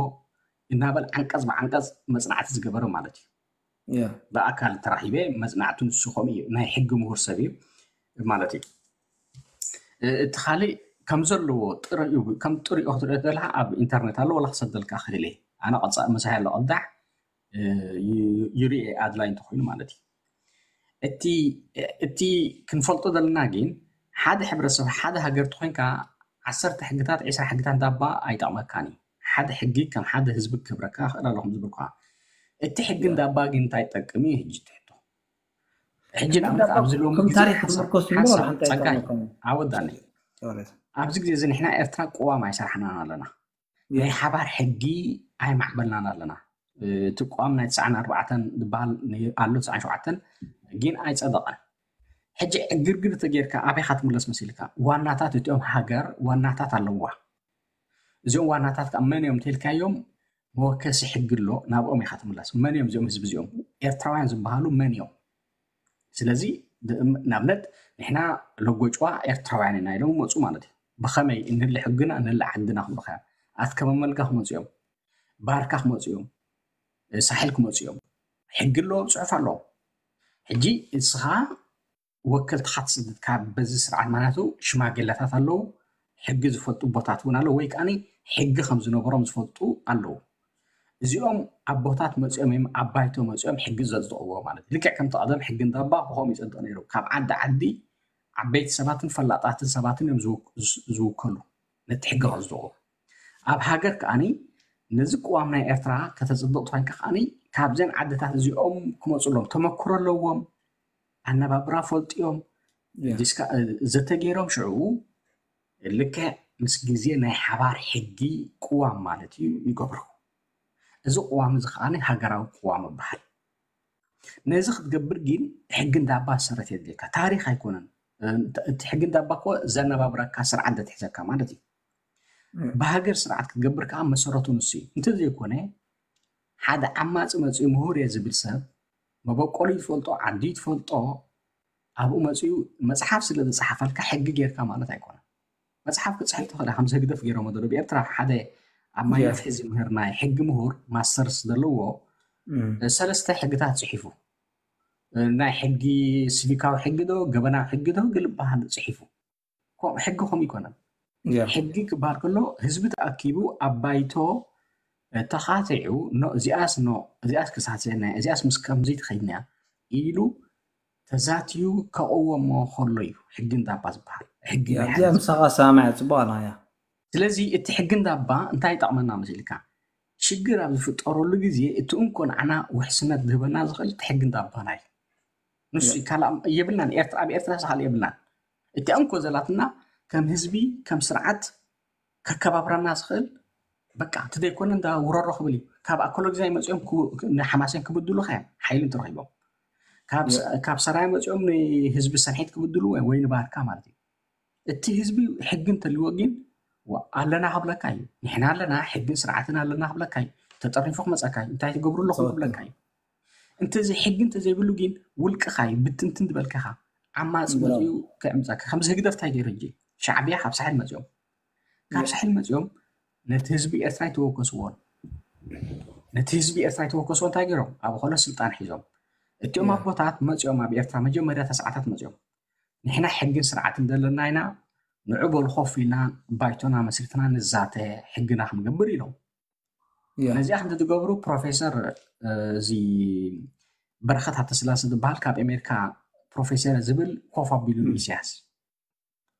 እናበል ዓንቀጽ ብዓንቀጽ መጽናዕቲ ዝገበረ ማለት እዩ። ያ ብኣካል ተራኺበ መጽናዕቱ ንሱ ከምኡ እዩ ናይ ሕጊ ምሁር ሰብ እዩ ማለት እዩ። እ- እቲ ካልእ ከም ዘለዎ ጥረ እዩ ከም ጥሪኦ ክትሪኦ ዘለካ ኣብ ኢንተርኔት ኣሎ ወላ ክሰደልካ ክእል እየ ኣነ ቀጻ መሳይ ኣሎ ቅዳሕ እ፣ ዩ- ዩሪኤ ኣድላይ እንተኮይኑ ማለት እዩ። እቲ እቲ ክንፈልጦ ዘለና ግን ሓደ ሕብረተሰብ ሓደ ሃገር ተኮይንካ ዓሰርተ ሕግታት ዒስራ ሕግታት እንዳባ ኣይጠቕመካን እዩ። ሓደ ሕጊ ከም ሓደ ህዝቢ ክብረካ ክእል ኣለኹም ዝብልካ እቲ ሕጊ እንዳባ ግን እንታይ ጠቅም እዩ ህጂ ትሕቶ ሕጂ ንኣብነት ኣብዚ ሎም ከም ታሪክ ዝምርኮስ ዝምሮ ሓንታ ጸጋይ ይጠቕመካ ኣወዳኒ ኣብዚ ግዜ እዚ ንሕና ኤርትራ ቅዋም ኣይሰራሕናን ኣለና ናይ ሓባር ሕጊ ኣይማዕበልናን ኣለና እቲ ቅዋም ናይ ትስዓን ኣርባዕተን ዝበሃል ኣሎ ትስዓን ሸውዓተን ግን ኣይጸደቐን ሕጂ ዕግርግር ተጌርካ ኣበይካ ትምለስ መሲልካ ዋናታት እቲኦም ሃገር ዋናታት ኣለዋ እዚኦም ዋናታት ከዓ መን እዮም ተልካዮም መወከሲ ሕጊ ኣሎ ናብኦም ኢካ ትምለስ መን እዮም እዚኦም ህዝቢ እዚኦም ኤርትራውያን ዝበሃሉ መን እዮም ስለዚ ንኣብነት ንሕና ለጎጭዋ ኤርትራውያን ኢና ኢሎም መፁ ማለት እዩ ብከመይ እንህሊ ሕግና እንህሊ ዓድና ክብሉካ ኣትከመመልጋ ክመፁ እዮም ባርካ ክመፁ እዮም ሳሕል ክመፁ እዮም ሕጊ ኣለዎም ፅሑፍ ኣለዎም ሕጂ እስኻ ወከልትኻ ትስድድ ካብ በዚ ስርዓት ማለቱ ሽማግለታት ኣለዉ ሕጊ ዝፈልጡ ቦታት እውን ኣለዉ ወይ ከዓ ሕጊ ከም ዝነበሮም ዝፈልጡ ኣለዉ እዚኦም ኣቦታት መፂኦም እዮም ኣብ ባይቶ መፂኦም ሕጊ ዘፅድቕዎ ማለት ልክዕ ከምቲ ቀደም ሕጊ እንዳባ ብኸም ይፀድቕ ነይሩ ካብ ዓዲ ዓዲ ዓበይቲ ሰባትን ፈላጣትን ሰባትን እዮም ዝውከሉ ነቲ ሕጊ ከፅድቑ ኣብ ሃገር ከዓኒ ነዚ ቅዋም ናይ ኤርትራ ከተፅድቕ ትኮንካ ከዓኒ ካብዘን ዓድታት እዚኦም ክመፁሎም ተመክሮ ኣለዎም ኣነባብራ ፈልጥዮም ዘተገይሮም ሽዑ ልክዕ ምስ ግዜ ናይ ሓባር ሕጊ ቅዋም ማለት እዩ ይገብሩ እዚ ቅዋም እዚ ከዓ ሃገራዊ ቅዋም ይበሃል ነዚ ክትገብር ግን ሕጊ እንዳባ ሰረት የድልየካ ታሪክ ኣይኮነን እቲ ሕጊ እንዳባ እኮ ዘነባብረካ ስርዓት ዘትሕዘካ ማለት እዩ ብሃገር ስርዓት ክትገብር ከዓ መሰረቱ ንሱ እዩ እንተዘይኮነ ሓደ ዓማፂ መፅኡ ምሁር እየ ዝብል ሰብ መበቆሉ ትፈልጦ ዓዲ ትፈልጦ ኣብኡ መፅኡ መፅሓፍ ስለ ዝፀሓፈልካ ሕጊ ጌርካ ማለት ኣይኮነን መፅሓፍ ክፅሕፍ ትኽእል ከምዚ ህግደፍ ገይሮሞ ዘሎ ብኤርትራ ሓደ ኣብ ማይ ነፍሒ ዝምህር ናይ ሕጊ ምሁር ማስተርስ ዘለዎ ሰለስተ ሕግታት ፅሒፉ ናይ ሕጊ ሲቪካዊ ሕጊ ዶ ገበናዊ ሕጊ ዶ ግልባሃል ፅሒፉ ሕጊ ከም ይኮነን ሕጊ ክበሃል ከሎ ህዝቢ ተኣኪቡ ኣብ ባይቶ ተኻቲዑ እዚኣስ ኖ እዚኣስ ክሳሰና እዚኣስ ምስ ከምዚ ትኸይድና ኢሉ ተዛትዩ ከቕወሞ ከሎ እዩ ሕጊ እንዳባ ዝበሃል ሕጊ እዚኣ ምሳኻ ሰማያ ፅቡቅ ኣላ እያ ስለዚ እቲ ሕጊ እንዳባ እንታይ ይጠቕመና መሲልካ ሽግር ኣብ ዝፍጠረሉ ግዜ እቲ እንኮ ንዓና ውሕስነት ዝህበና ዝኽእል እቲ ሕጊ እንዳባና እዩ ንሱ ካልእ የብልናን ኤርትራ ኣብ ኤርትራ ዝኻል የብልናን እቲኣ እንኮ ዘላትና ከም ህዝቢ ከም ስርዓት ከከባብረና ዝኽእል በቃ እቲ ዘይኮነ እንዳ ውረሮ ክብል እዩ ካብ ኣኮሎግዛይ መፅኦም ንሓማሴን ክብድሉ ከ ሓይሊ እንትረኪቦም ካብ ሰራይ መፅኦም ንህዝቢ ሰንሒት ክብድሉ ወይ ንባርካ ማለት እዩ እቲ ህዝቢ ሕጊ እንተልዎ ግን ኣለና ክብለካ እዩ ንሕና ኣለና ሕግን ስርዓትን ኣለና ክብለካ እዩ ተጠሪፉ ክመፀካ እዩ እንታይ ትገብሩ ኣለኹም ክብለካ እዩ እንተዚ ሕጊ እንተዘይብሉ ግን ውልቅኻ እዩ ብትንትን ዝበልካኻ ዓማፂ መፅኡ ክዕምፀካ ከምዚ ህግደፍ እንታይ ገይሩ ሕጂ ሻዕብያ ካብ ሳሕል መፅኦም ካብ ሳሕል መፅኦም ነቲ ህዝቢ ኤርትራ ይተወከስዎን ነቲ ህዝቢ ኤርትራ ይተወከስዎ እንታይ ገይሮም ኣብ ኾሎ ስልጣን ሒዞም እቲኦም ኣቦታት መፅኦም ኣብ ኤርትራ መጀመርያ ተስዓታት መፅኦም ንሕና ሕግን ስርዓትን ዘለና ኢና ንዑ በሉ ኮፍ ኢልና ባይቶና መስሪትና ንዛተ ሕግና ክንገብር ኢሎም ነዚኣ ክንተ ትገብሩ ፕሮፌሰር እዚ በረኸት ሃተስላሴ ዝበሃል ካብ ኣሜሪካ ፕሮፌሰር ዝብል ኮፍ ኣቢሉ ኢሳያስ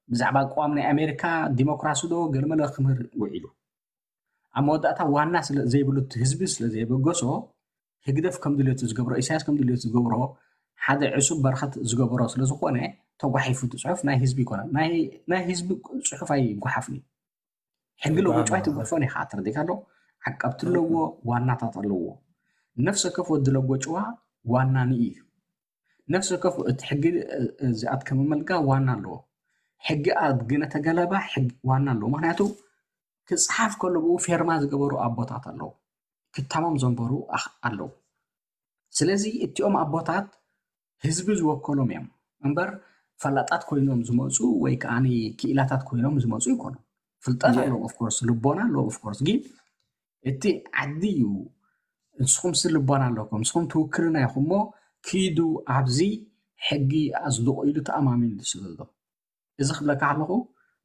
ብዛዕባ ቅዋም ናይ ኣሜሪካ ዲሞክራሲ ዶ ገለመለ ክምህር ውዒሉ ኣብ መወዳእታ ዋና ስለ ዘይብሉ፣ እቲ ህዝቢ ስለ ዘየበገሶ፣ ህግደፍ ከም ድልዮቱ ዝገብሮ፣ ኢሳያስ ከም ድልዮቱ ዝገብሮ፣ ሓደ ዕሱብ በረኸት ዝገበሮ ስለ ዝኾነ፣ ተጓሒፉ እቲ ጽሑፍ ናይ ህዝቢ ይኮነ። ናይ ህዝቢ ጽሑፍ ኣይጓሓፍን እዩ። ሕጊ ለጎጭዋ ኣይትጓሓፍን። ኣይትጓሓፎን ኢኻ፣ ተረዲእካ ዶ? ዓቀብቲ ኣለዎ፣ ዋናታት ኣለዎ። ነፍሲ ወከፍ ወዲ ለጎጭዋ ዋና ንኢ እዩ። ነፍሲ ወከፍ እቲ ሕጊ፣ እ፣ ዝኣትከመ መልጋ ዋና ኣለዎ። ሕጊ ኣድግነ ተገለባ ሕጊ ዋና ኣለዎ። ምኽንያቱ ክጽሓፍ ከሎ ብኡ ፌርማ ዝገበሩ ኣቦታት ኣለዉ። ክታሞም ዘንበሩ ኣኽ-፣ ኣለዉ። ስለዚ እቲኦም ኣቦታት ህዝቢ ዝወከሎም እዮም እምበር ፈላጣት ኮይኖም ዝመፁ ወይ ከዓ ክኢላታት ኮይኖም ዝመፁ ይኮኑ። ፍልጠት ያ። ኣለዎም፣ of course፣ ልቦና ኣለዎም፣ of course። ግን እቲ ዓዲ እዩ፣ ንስኹም ሲ ልቦና ኣለኩም፣ ንስኹም ትውክልና ኢኹም እሞ ኪዱ ኣብዚ ሕጊ ኣጽድቑ ኢሉ ተኣማሚኑ ዝስበልዶ። እዚ ክብለካ ኣለኹ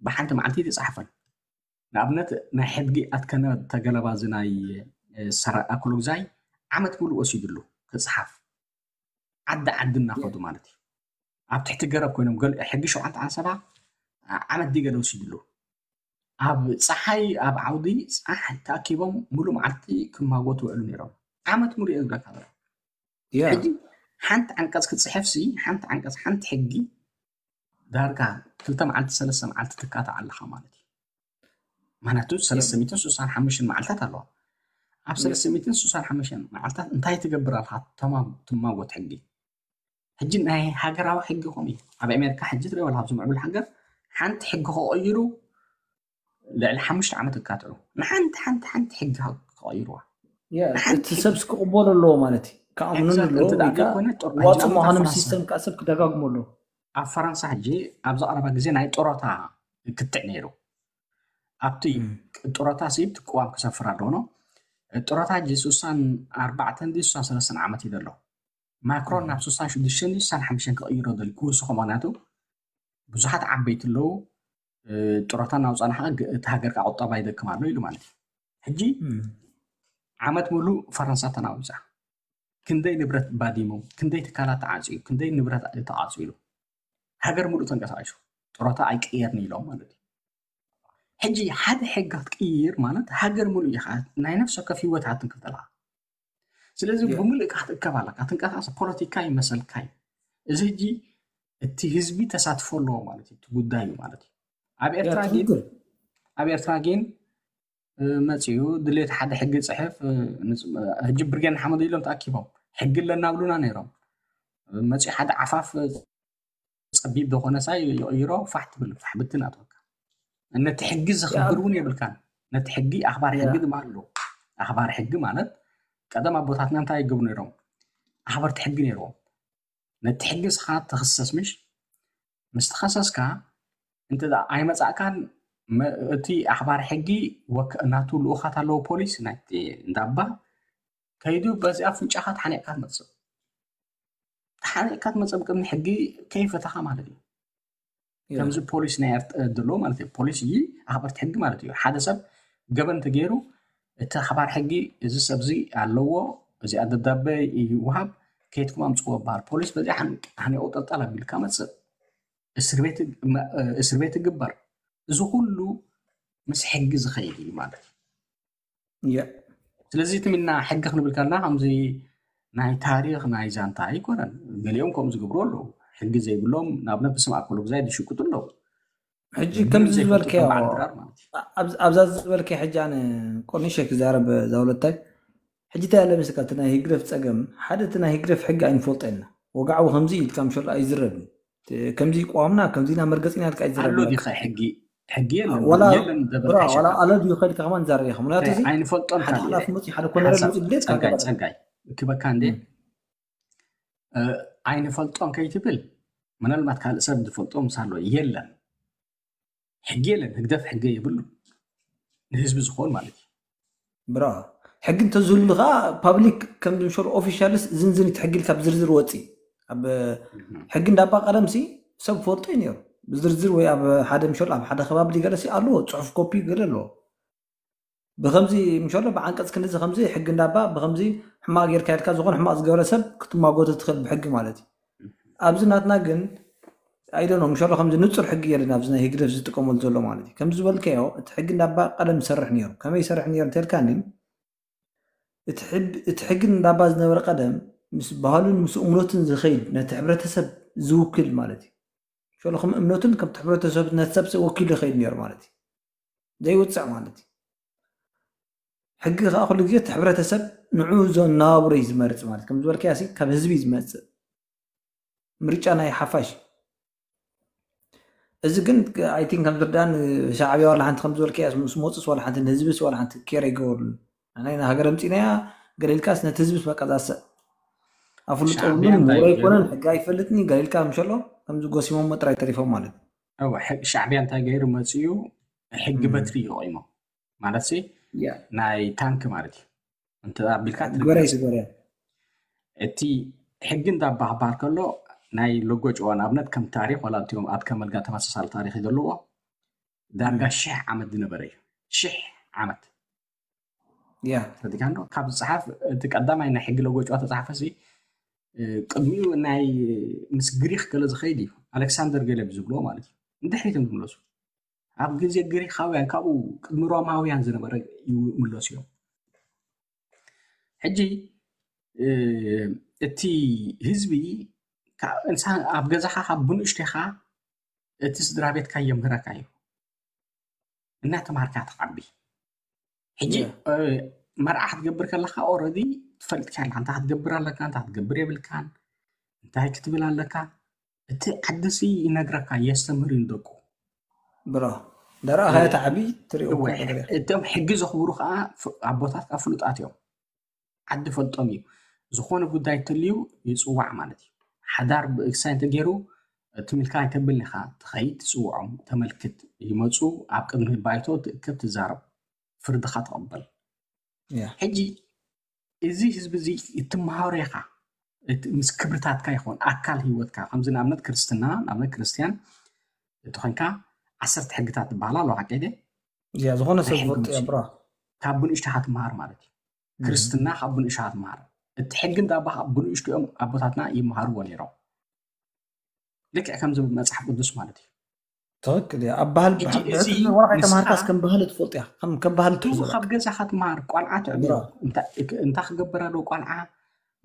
ብሓንቲ መዓልቲ ኣይተጻሕፈን። ንኣብነት ናይ ሕድጊ ኣትከነ ተገለባ እዚ ናይ፣ እ፣ ሰራቂ ኣክሎግዛይ ዓመት ሙሉእ ወሲድሉ ክጽሓፍ። ዓዲ ዓዲ እናኸዱ ማለት እዩ። ኣብ ትሕቲ ገረብ ኮይኖም ገል-፣ ሕጊ ሸውዓተ ዓንሰባ ዓመት ድዩ ገለ ወሲድሉ። ኣብ ጸሓይ ኣብ ዓውዲ ጸሓይ ተኣኪቦም ሙሉእ መዓልቲ ክማጎቱ ውዕሉ ነይሮም። ዓመት ሙሉእ እዮም ዝብለካ ዘለኹ። ያ። ሕጂ ሓንቲ ዓንቀጽ ክትጽሕፍሲ፣ ሓንቲ ዓንቀጽ፣ ሓንቲ ሕጊ ዳርጋ ክልተ መዓልቲ፣ ሰለስተ መዓልቲ ትካታዕ ኣለኻ ማለት እዩ። ምኽንያቱ ሰለስተ ሚእትን ስሳን ሓሙሽተን መዓልታት ኣለዋ። ኣብ ያ። ሰለስተ ሚእትን ስሳን ሓሙሽተን መዓልታት እንታይ ትገብር ኣለኻ? ተማ-፣ ትማጎት ሕጊ። ሕጂ ናይ ሃገራዊ ሕጊ ከምኡ እዩ። ኣብ ኣሜሪካ ሕጂ ትሪኦ ኣለኻ፣ ኣብዚ ምዕቡል ሃገር ሓንቲ ሕጊ ክቕይሩ ልዕሊ ሓሙሽተ ዓመት ይካትዑ። ንሓንቲ፣ ሓንቲ፣ ሓንቲ ሕጊ ክቕይሩዋ። ያ፣ ንሓንቲ እቲ ሕጊ። ሰብስ ክቕበሎ ኣለዎ ማለት እዩ። ክኣምኑን Exactly፣ ኣለዎ፣ እንተ ደኣ ወይ ከዓ ዘይኮነ ጥር-፣ ሕጂ ዋፂ ኣብ ምዃኖም ፈረንሳ። ሲስተም ከዓ ሰብ ክደጋግሞ ኣለዎ። ኣብ ፈረንሳ ሕጂ ኣብዚ ቀረባ ግዜ ናይ ጥሮታ ክትዕ ነይሩ። ኣብቲ እም። ጥሮታ ሲ እቲ ቅዋም ክሰፍር ኣለዎ። ጥሮታ ሕጂ ስሳን ኣርባዕተን ድዩ ስሳን ሰለስተን ዓመት እዩ ዘሎ። ማክሮን እም። ናብ ስሳን ሽዱሽተን ድዩ ስሳን ሓሙሽተን ክቕይሮ ደልዩ ክውስኾ፣ ምኽንያቱ ብዙሓት ዓበይቲ ኣለዉ፣ እ፣ ጥሮታ እናውፃእና ከዓ ግ-፣ እቲ ሃገር ከዓ ቁጠባ ይደክም ኣሎ ኢሉ ማለት እዩ። ሕጂ እም። ዓመት ሙሉእ ፈረንሳ ተናዊፃ። ክንደይ ንብረት ባዲሙ፣ ክንደይ ትካላት ተዓፅዩ፣ ክንደይ ንብረት ተቓፂሉ። ሃገር ሙሉእ ተንቀሳቒሱ። ጥሮታ ኣይቅየርን ኢሎም ማለት እዩ። ሕጂ ሓደ ሕጊ ክትቅይር ማለት ሃገር ሙሉእ ኢኻ፣ ናይ ነፍሲ ወከፍ ህይወት ሃትንክፍ ዘለኻ። ስለዚ ያ። ብምሉእ ኢኻ ክትእከብ ኣለካ። ትንቀሳቐስ ፖለቲካ ይመሰልካ እዩ። እዚ ሕጂ እቲ ህዝቢ ተሳትፎ ኣለዎ ማለት እዩ፣ እቲ ጉዳይ እዩ ማለት እዩ። ኣብ ያ፣ ኤርትራ ግን፣ ትኽክል። ኣብ ኤርትራ ግን፣ እ፣ መጺኡ ድሌት ሓደ ሕጊ ጽሕፍ፣ እ፣ ንጽ-፣ እ፣ ሕጂ ብርጌድ ንሓመዱ ኢሎም ተኣኪቦም ሕጊ ኣለና ብሉና ነይሮም። እ፣ መጺኡ ሓደ ዓፋፍ፣ እ፣ ጸቢብ ዝኾነ ሳይ ይቕይሮ፣ ፋሕ ትብል፣ ፋሕ ብትን ኣትወካ። ነቲ ሕጊ ዘኽብር ያ። እውን የብልካን። ነቲ ሕጊ ኣኽባር ያ። ሕጊ ድማ ኣለዎ። ኣኽባር ሕጊ ማለት ቀደም ኣቦታትና እንታይ ይገብሩ ነይሮም? ኣኽበርቲ ሕጊ ነይርዎም። ነቲ ሕጊ እስኻ ትኽሰስ ምሽ? ምስ ተኸሰስካ እንተ ደኣ ኣይመጻእካን መ-፣ እቲ ኣኽባር ሕጊ ወክ-፣ ናቱ ልኡኻት ኣለዎ ፖሊስ ናይቲ እንዳባ ከይዱ በዚ ኣፍንጫኻ ተሓኒቕካ ትመጽእ። ተሓኒቕካ ትመጽእ ብቅድሚ ሕጊ ከይፈተኻ ማለት እዩ። ያ። ከምዚ ፖሊስ ናይ ኤርት-፣ ዘሎ ማለት እዩ። ፖሊስ እዩ ኣኽበርቲ ሕጊ ማለት እዩ። ሓደ ሰብ ገበን ተገይሩ እቲ ኣኽባር ሕጊ እዚ ሰብዚ ኣለዎ፣ እዚኣ ደብዳበ ይውሃብ፣ ከይድኩም ኣምጽዎ ይበሃል። ፖሊስ በዚኣ ሓን-፣ ሓኒቑ ጠልጠል ኣቢልካ መጽእ። እስር ቤት ግ-፣ መ-፣ እስር ቤት ይግበር። እዚ ኩሉ ምስ ሕጊ ዝኸይድ እዩ ማለት እዩ። ያ። ስለዚ እቲ ሚና ሕጊ ክንብል ከለና ከምዚ ናይ ታሪኽ ናይ ዛንታ ኣይኮነን። ገሊኦም ከምኡ ዝገብሩ ኣለዉ። ሕጊ ዘይብሎም ንኣብነት ብስም ኣኮሎ ግዛይ ዝሽቅጡ ኣለዉ። ሕጂ ሕጊ ከምዚ ዘይፈልጡ ዝበልካዮ፣ ከም በዓል ድራር ማለት እዩ። ኣብ-፣ ኣብዛ ዝበልካዮ ሕጂ ኣነ ቆኒሸ ክዛረብ እዛ ወለታይ። ሕጂ እንታይ ኣለ መስለካ፣ እቲ ናይ ህግደፍ ጸገም፣ ሓደ እቲ ናይ ህግደፍ ሕጊ ኣይንፈልጦ ኢና። ወግዓዊ ከምዚ ኢልካ ምሸሎ ኣይዝረብን። እቲ ከምዚ ቅዋምና፣ ከምዚ ኢና መርገጺና ኢልካ ኣይዝረብን። ኣሎ ዲኸ ሕጊ? ሕጊ የለን። ዋላ የለን ዘበልካ ብራ፣ ዋላ ይሸካ። ኣሎ ድዩ ከልካ ከማን ዛረብ ኢኻ። ምክንያቱ እንታይ እዚ ኣይንፈልጦን ሓደ ካልእ ሓላፊ መጺኡ፣ ሓደ ኮነረል ጸጋይ፣ መጺኡ ድሌት ጸጋይ፣ ካልእ ጸጋይ። ክበካ እንዴ? እም። እ፣ ኣይንፈልጦን ከይትብል፣ ምናልባት ካልእ ሰብ ዝፈልጦ ምሳሎ የለን። ሕጊ የለን፣ ህግደፍ ሕጊ የብሉ። ንህዝቢ ዝኾን ማለት እዩ። ብራ፣ ሕጊ እንተዝህሉ ከዓ ፓብሊክ ከም ዝምሸሉ ኦፊሻልስ ዝንዝን እቲ ሕጊ ኢልካ ብዝርዝር ወፂ። ኣብ እህ። ሕጊ እንዳባ ቀደምሲ ሰብ ፈልጦ እዩ ነይሩ። ብዝርዝር ወይ ኣብ ሓደ ምሸሉ ኣብ ሓደ ከባቢ ገለሲ ኣለዎ፣ ጽሑፍ ኮፒ ገለ ኣለዎ። ብኸምዚ ምሸሎ ብዓንቀጽ ክንድዚ ከምዚ ሕጊ እንዳባ ብኸምዚ ሕማቕ ጌርካ ኢልካ ዝኾነ ሕማቕ ዝገበረ ሰብ ክትማጎቶ ትኽእል ብሕጊ ማለት እዩ። ኣብዚ ናትና ግን ኣይደኖ ምሸሎ ከምዚ ንፁር ሕጊ የለን ኣብዚ ናይ ህግደፍ ዝጥቀመሉ ዘሎ ማለት እዩ። ከምዚ ዝበልካዮ እቲ ሕጊ እንዳባ ቀደም ይሰርሕ ነይሩ። ከመይ ይሰርሕ ነይሩ እንተልካኒ እቲ ሕግ- እቲ ሕጊ እንዳባ ዝነበረ ቀደም ምስ ባህሉን ምስ እምነቱን ዝኸይድ ነቲ ሕብረተሰብ ዝውክል ማለት እዩ። ሸሎ ከም እምነቱን ከምቲ ሕብረተሰብ ነቲ ሰብ ወኪሉ ይኸይድ ነይሩ ማለት እዩ። ዘይውፅዕ ማለት እዩ። ሕጊ ከዓ ኩሉ ግዜ እቲ ሕብረተሰብ ንዑ ዘናብሮ እዩ ዝመርፅ ማለት ከም ዝበልካያ ሲ ካብ ህዝቢ እዩ ዝመፅእ ምርጫ ናይ ሓፋሽ እዚ ግን ኣይቲን ከም ዝርዳን ሻዕብያ ዋላ ሓንቲ ከም ዝበልካያ ምስ መፁስ ዋላ ሓንቲ ንህዝብስ ዋላ ሓንቲ ኬር ኣይገበሩን ናይ ሃገር ኣምፂናያ ገለ ኢልካስ ነቲ ህዝብስ በቃ ዛሰ ኣፍልጦ ሻዕብያ የብሉን እንታይ ውረ ገይሩ? ኣይኮነን ሕጊ ኣይፈልጥን እዩ ገለ ኢልካ ምሸሎ ከምዚ ጎሲሞሞ ጥራይ ተሪፎም ማለት እዩ እወ፣ ሕግ- ሻዕብያ እንታይ ገይሩ መፅኡ? ሕጊ እም። በትሪ እዩ ቆይሞ ማለት ሲ ያ ናይ ታንክ ማለት እዩ። እንተ ኣቢልካ ግበረይ ግበረያ እቲ ሕጊ እንዳባህባል ከሎ ናይ ሎጎ ጨዋ ንኣብነት ከም ታሪክ ዋላ እቲኦም ኣትከመልጋ ተመሳሳሊ ታሪክ ዘለዎ ዳርጋ ሽሕ ዓመት ዝነበረ እዩ። ሽሕ ዓመት ያ ተዲካ እንዶ ካብ ዝፅሓፍ እቲ ቀዳማይ ናይ ሕጊ ሎጎ ጨዋ ተፃሓፈ ሲ ቅድሚኡ ናይ ምስ ግሪክ ገለ ዝኸይድ እዩ። ኣሌክሳንደር ገለ ብዝብሎ ማለት እዩ። ንድሕሪት እዮም ዝምለሱ። ኣብ ግዜ ግሪካውያን ካብኡ ቅድሚ ሮማውያን ዝነበረ ይምለሱ እዮም። ሕጂ እቲ ህዝቢ ኣብ ገዛኻ ካብ ብንእሽቴኻ እቲ ስድራ ቤትካ የምህረካ እዩ። እናተማሃርካ ትዓቢ። ሕጂ መርዓ ክትገብር ከለካ ኦረዲ ትፈልጥካ ኣለካ እንታይ ክትገብር ኣለካ እንታይ ክትገብር የብልካን እንታይ ክትብል ኣለካ። እቲ ዓዲ ሲ ይነግረካ የስተምህር እዩ ንደቁ። ብሮ ደረኣኻዮ ትዓቢ ትሪኦ እቶም ሕጊ ዘኽብሩ ከዓ ኣቦታት ከዓ ፍሉጣት እዮም። ዓዲ ፈልጦም እዩ። ዝኾነ ጉዳይ ተልዩ ይፅዋዕ ማለት እዩ። ሓዳር ብእግሳይ እንተገይሩ እቲ ምልካ ኣይተብልን ኢኻ ትኸይድ ትፅውዖም ተመልክት ይመፁ ኣብ ቅድሚ ባይቶ ትእከብ ትዛረብ ፍርድኻ ትቕበል። ሕጂ እዚ ህዝቢ እዚ እትመሃሮ ኢኻ ምስ ክብርታትካ ይኸውን ኣካል ህይወትካ ከምዚ ንኣብነት ክርስትና ንኣብነት ክርስትያን እቲ ኮንካ ዓሰርተ ሕግታት ዝበሃላ ኣለዋ ሓቂ ዝኾነ ሰብ ዝፈልጦ እያ ብራ ካብ ብንእሽተኻ ትመሃር ማለት እዩ። ክርስትና ካብ ብንእሽተኻ ትመሃር። እቲ ሕጊ እንዳባ ካብ ብንእሽትኦም ኣቦታትና ይመሃርዎ ነይሮም። ልክዕ ከምዚ መፅሓፍ ቅዱስ ማለት እዩ። ትክክል እያ። ኣብ ባህል ሕጂ እዚ ወላ ንስኻ ከይተማሃርካስ ከም ባህሊ ትፈልጦ እያ። ከም ከም ባህሊ እቱ ትሕዞ ካብ ገዛኻ ትመሃር ቆልዓ ትዕብሮ እንታይ ክገብር ኣለዎ ቆልዓ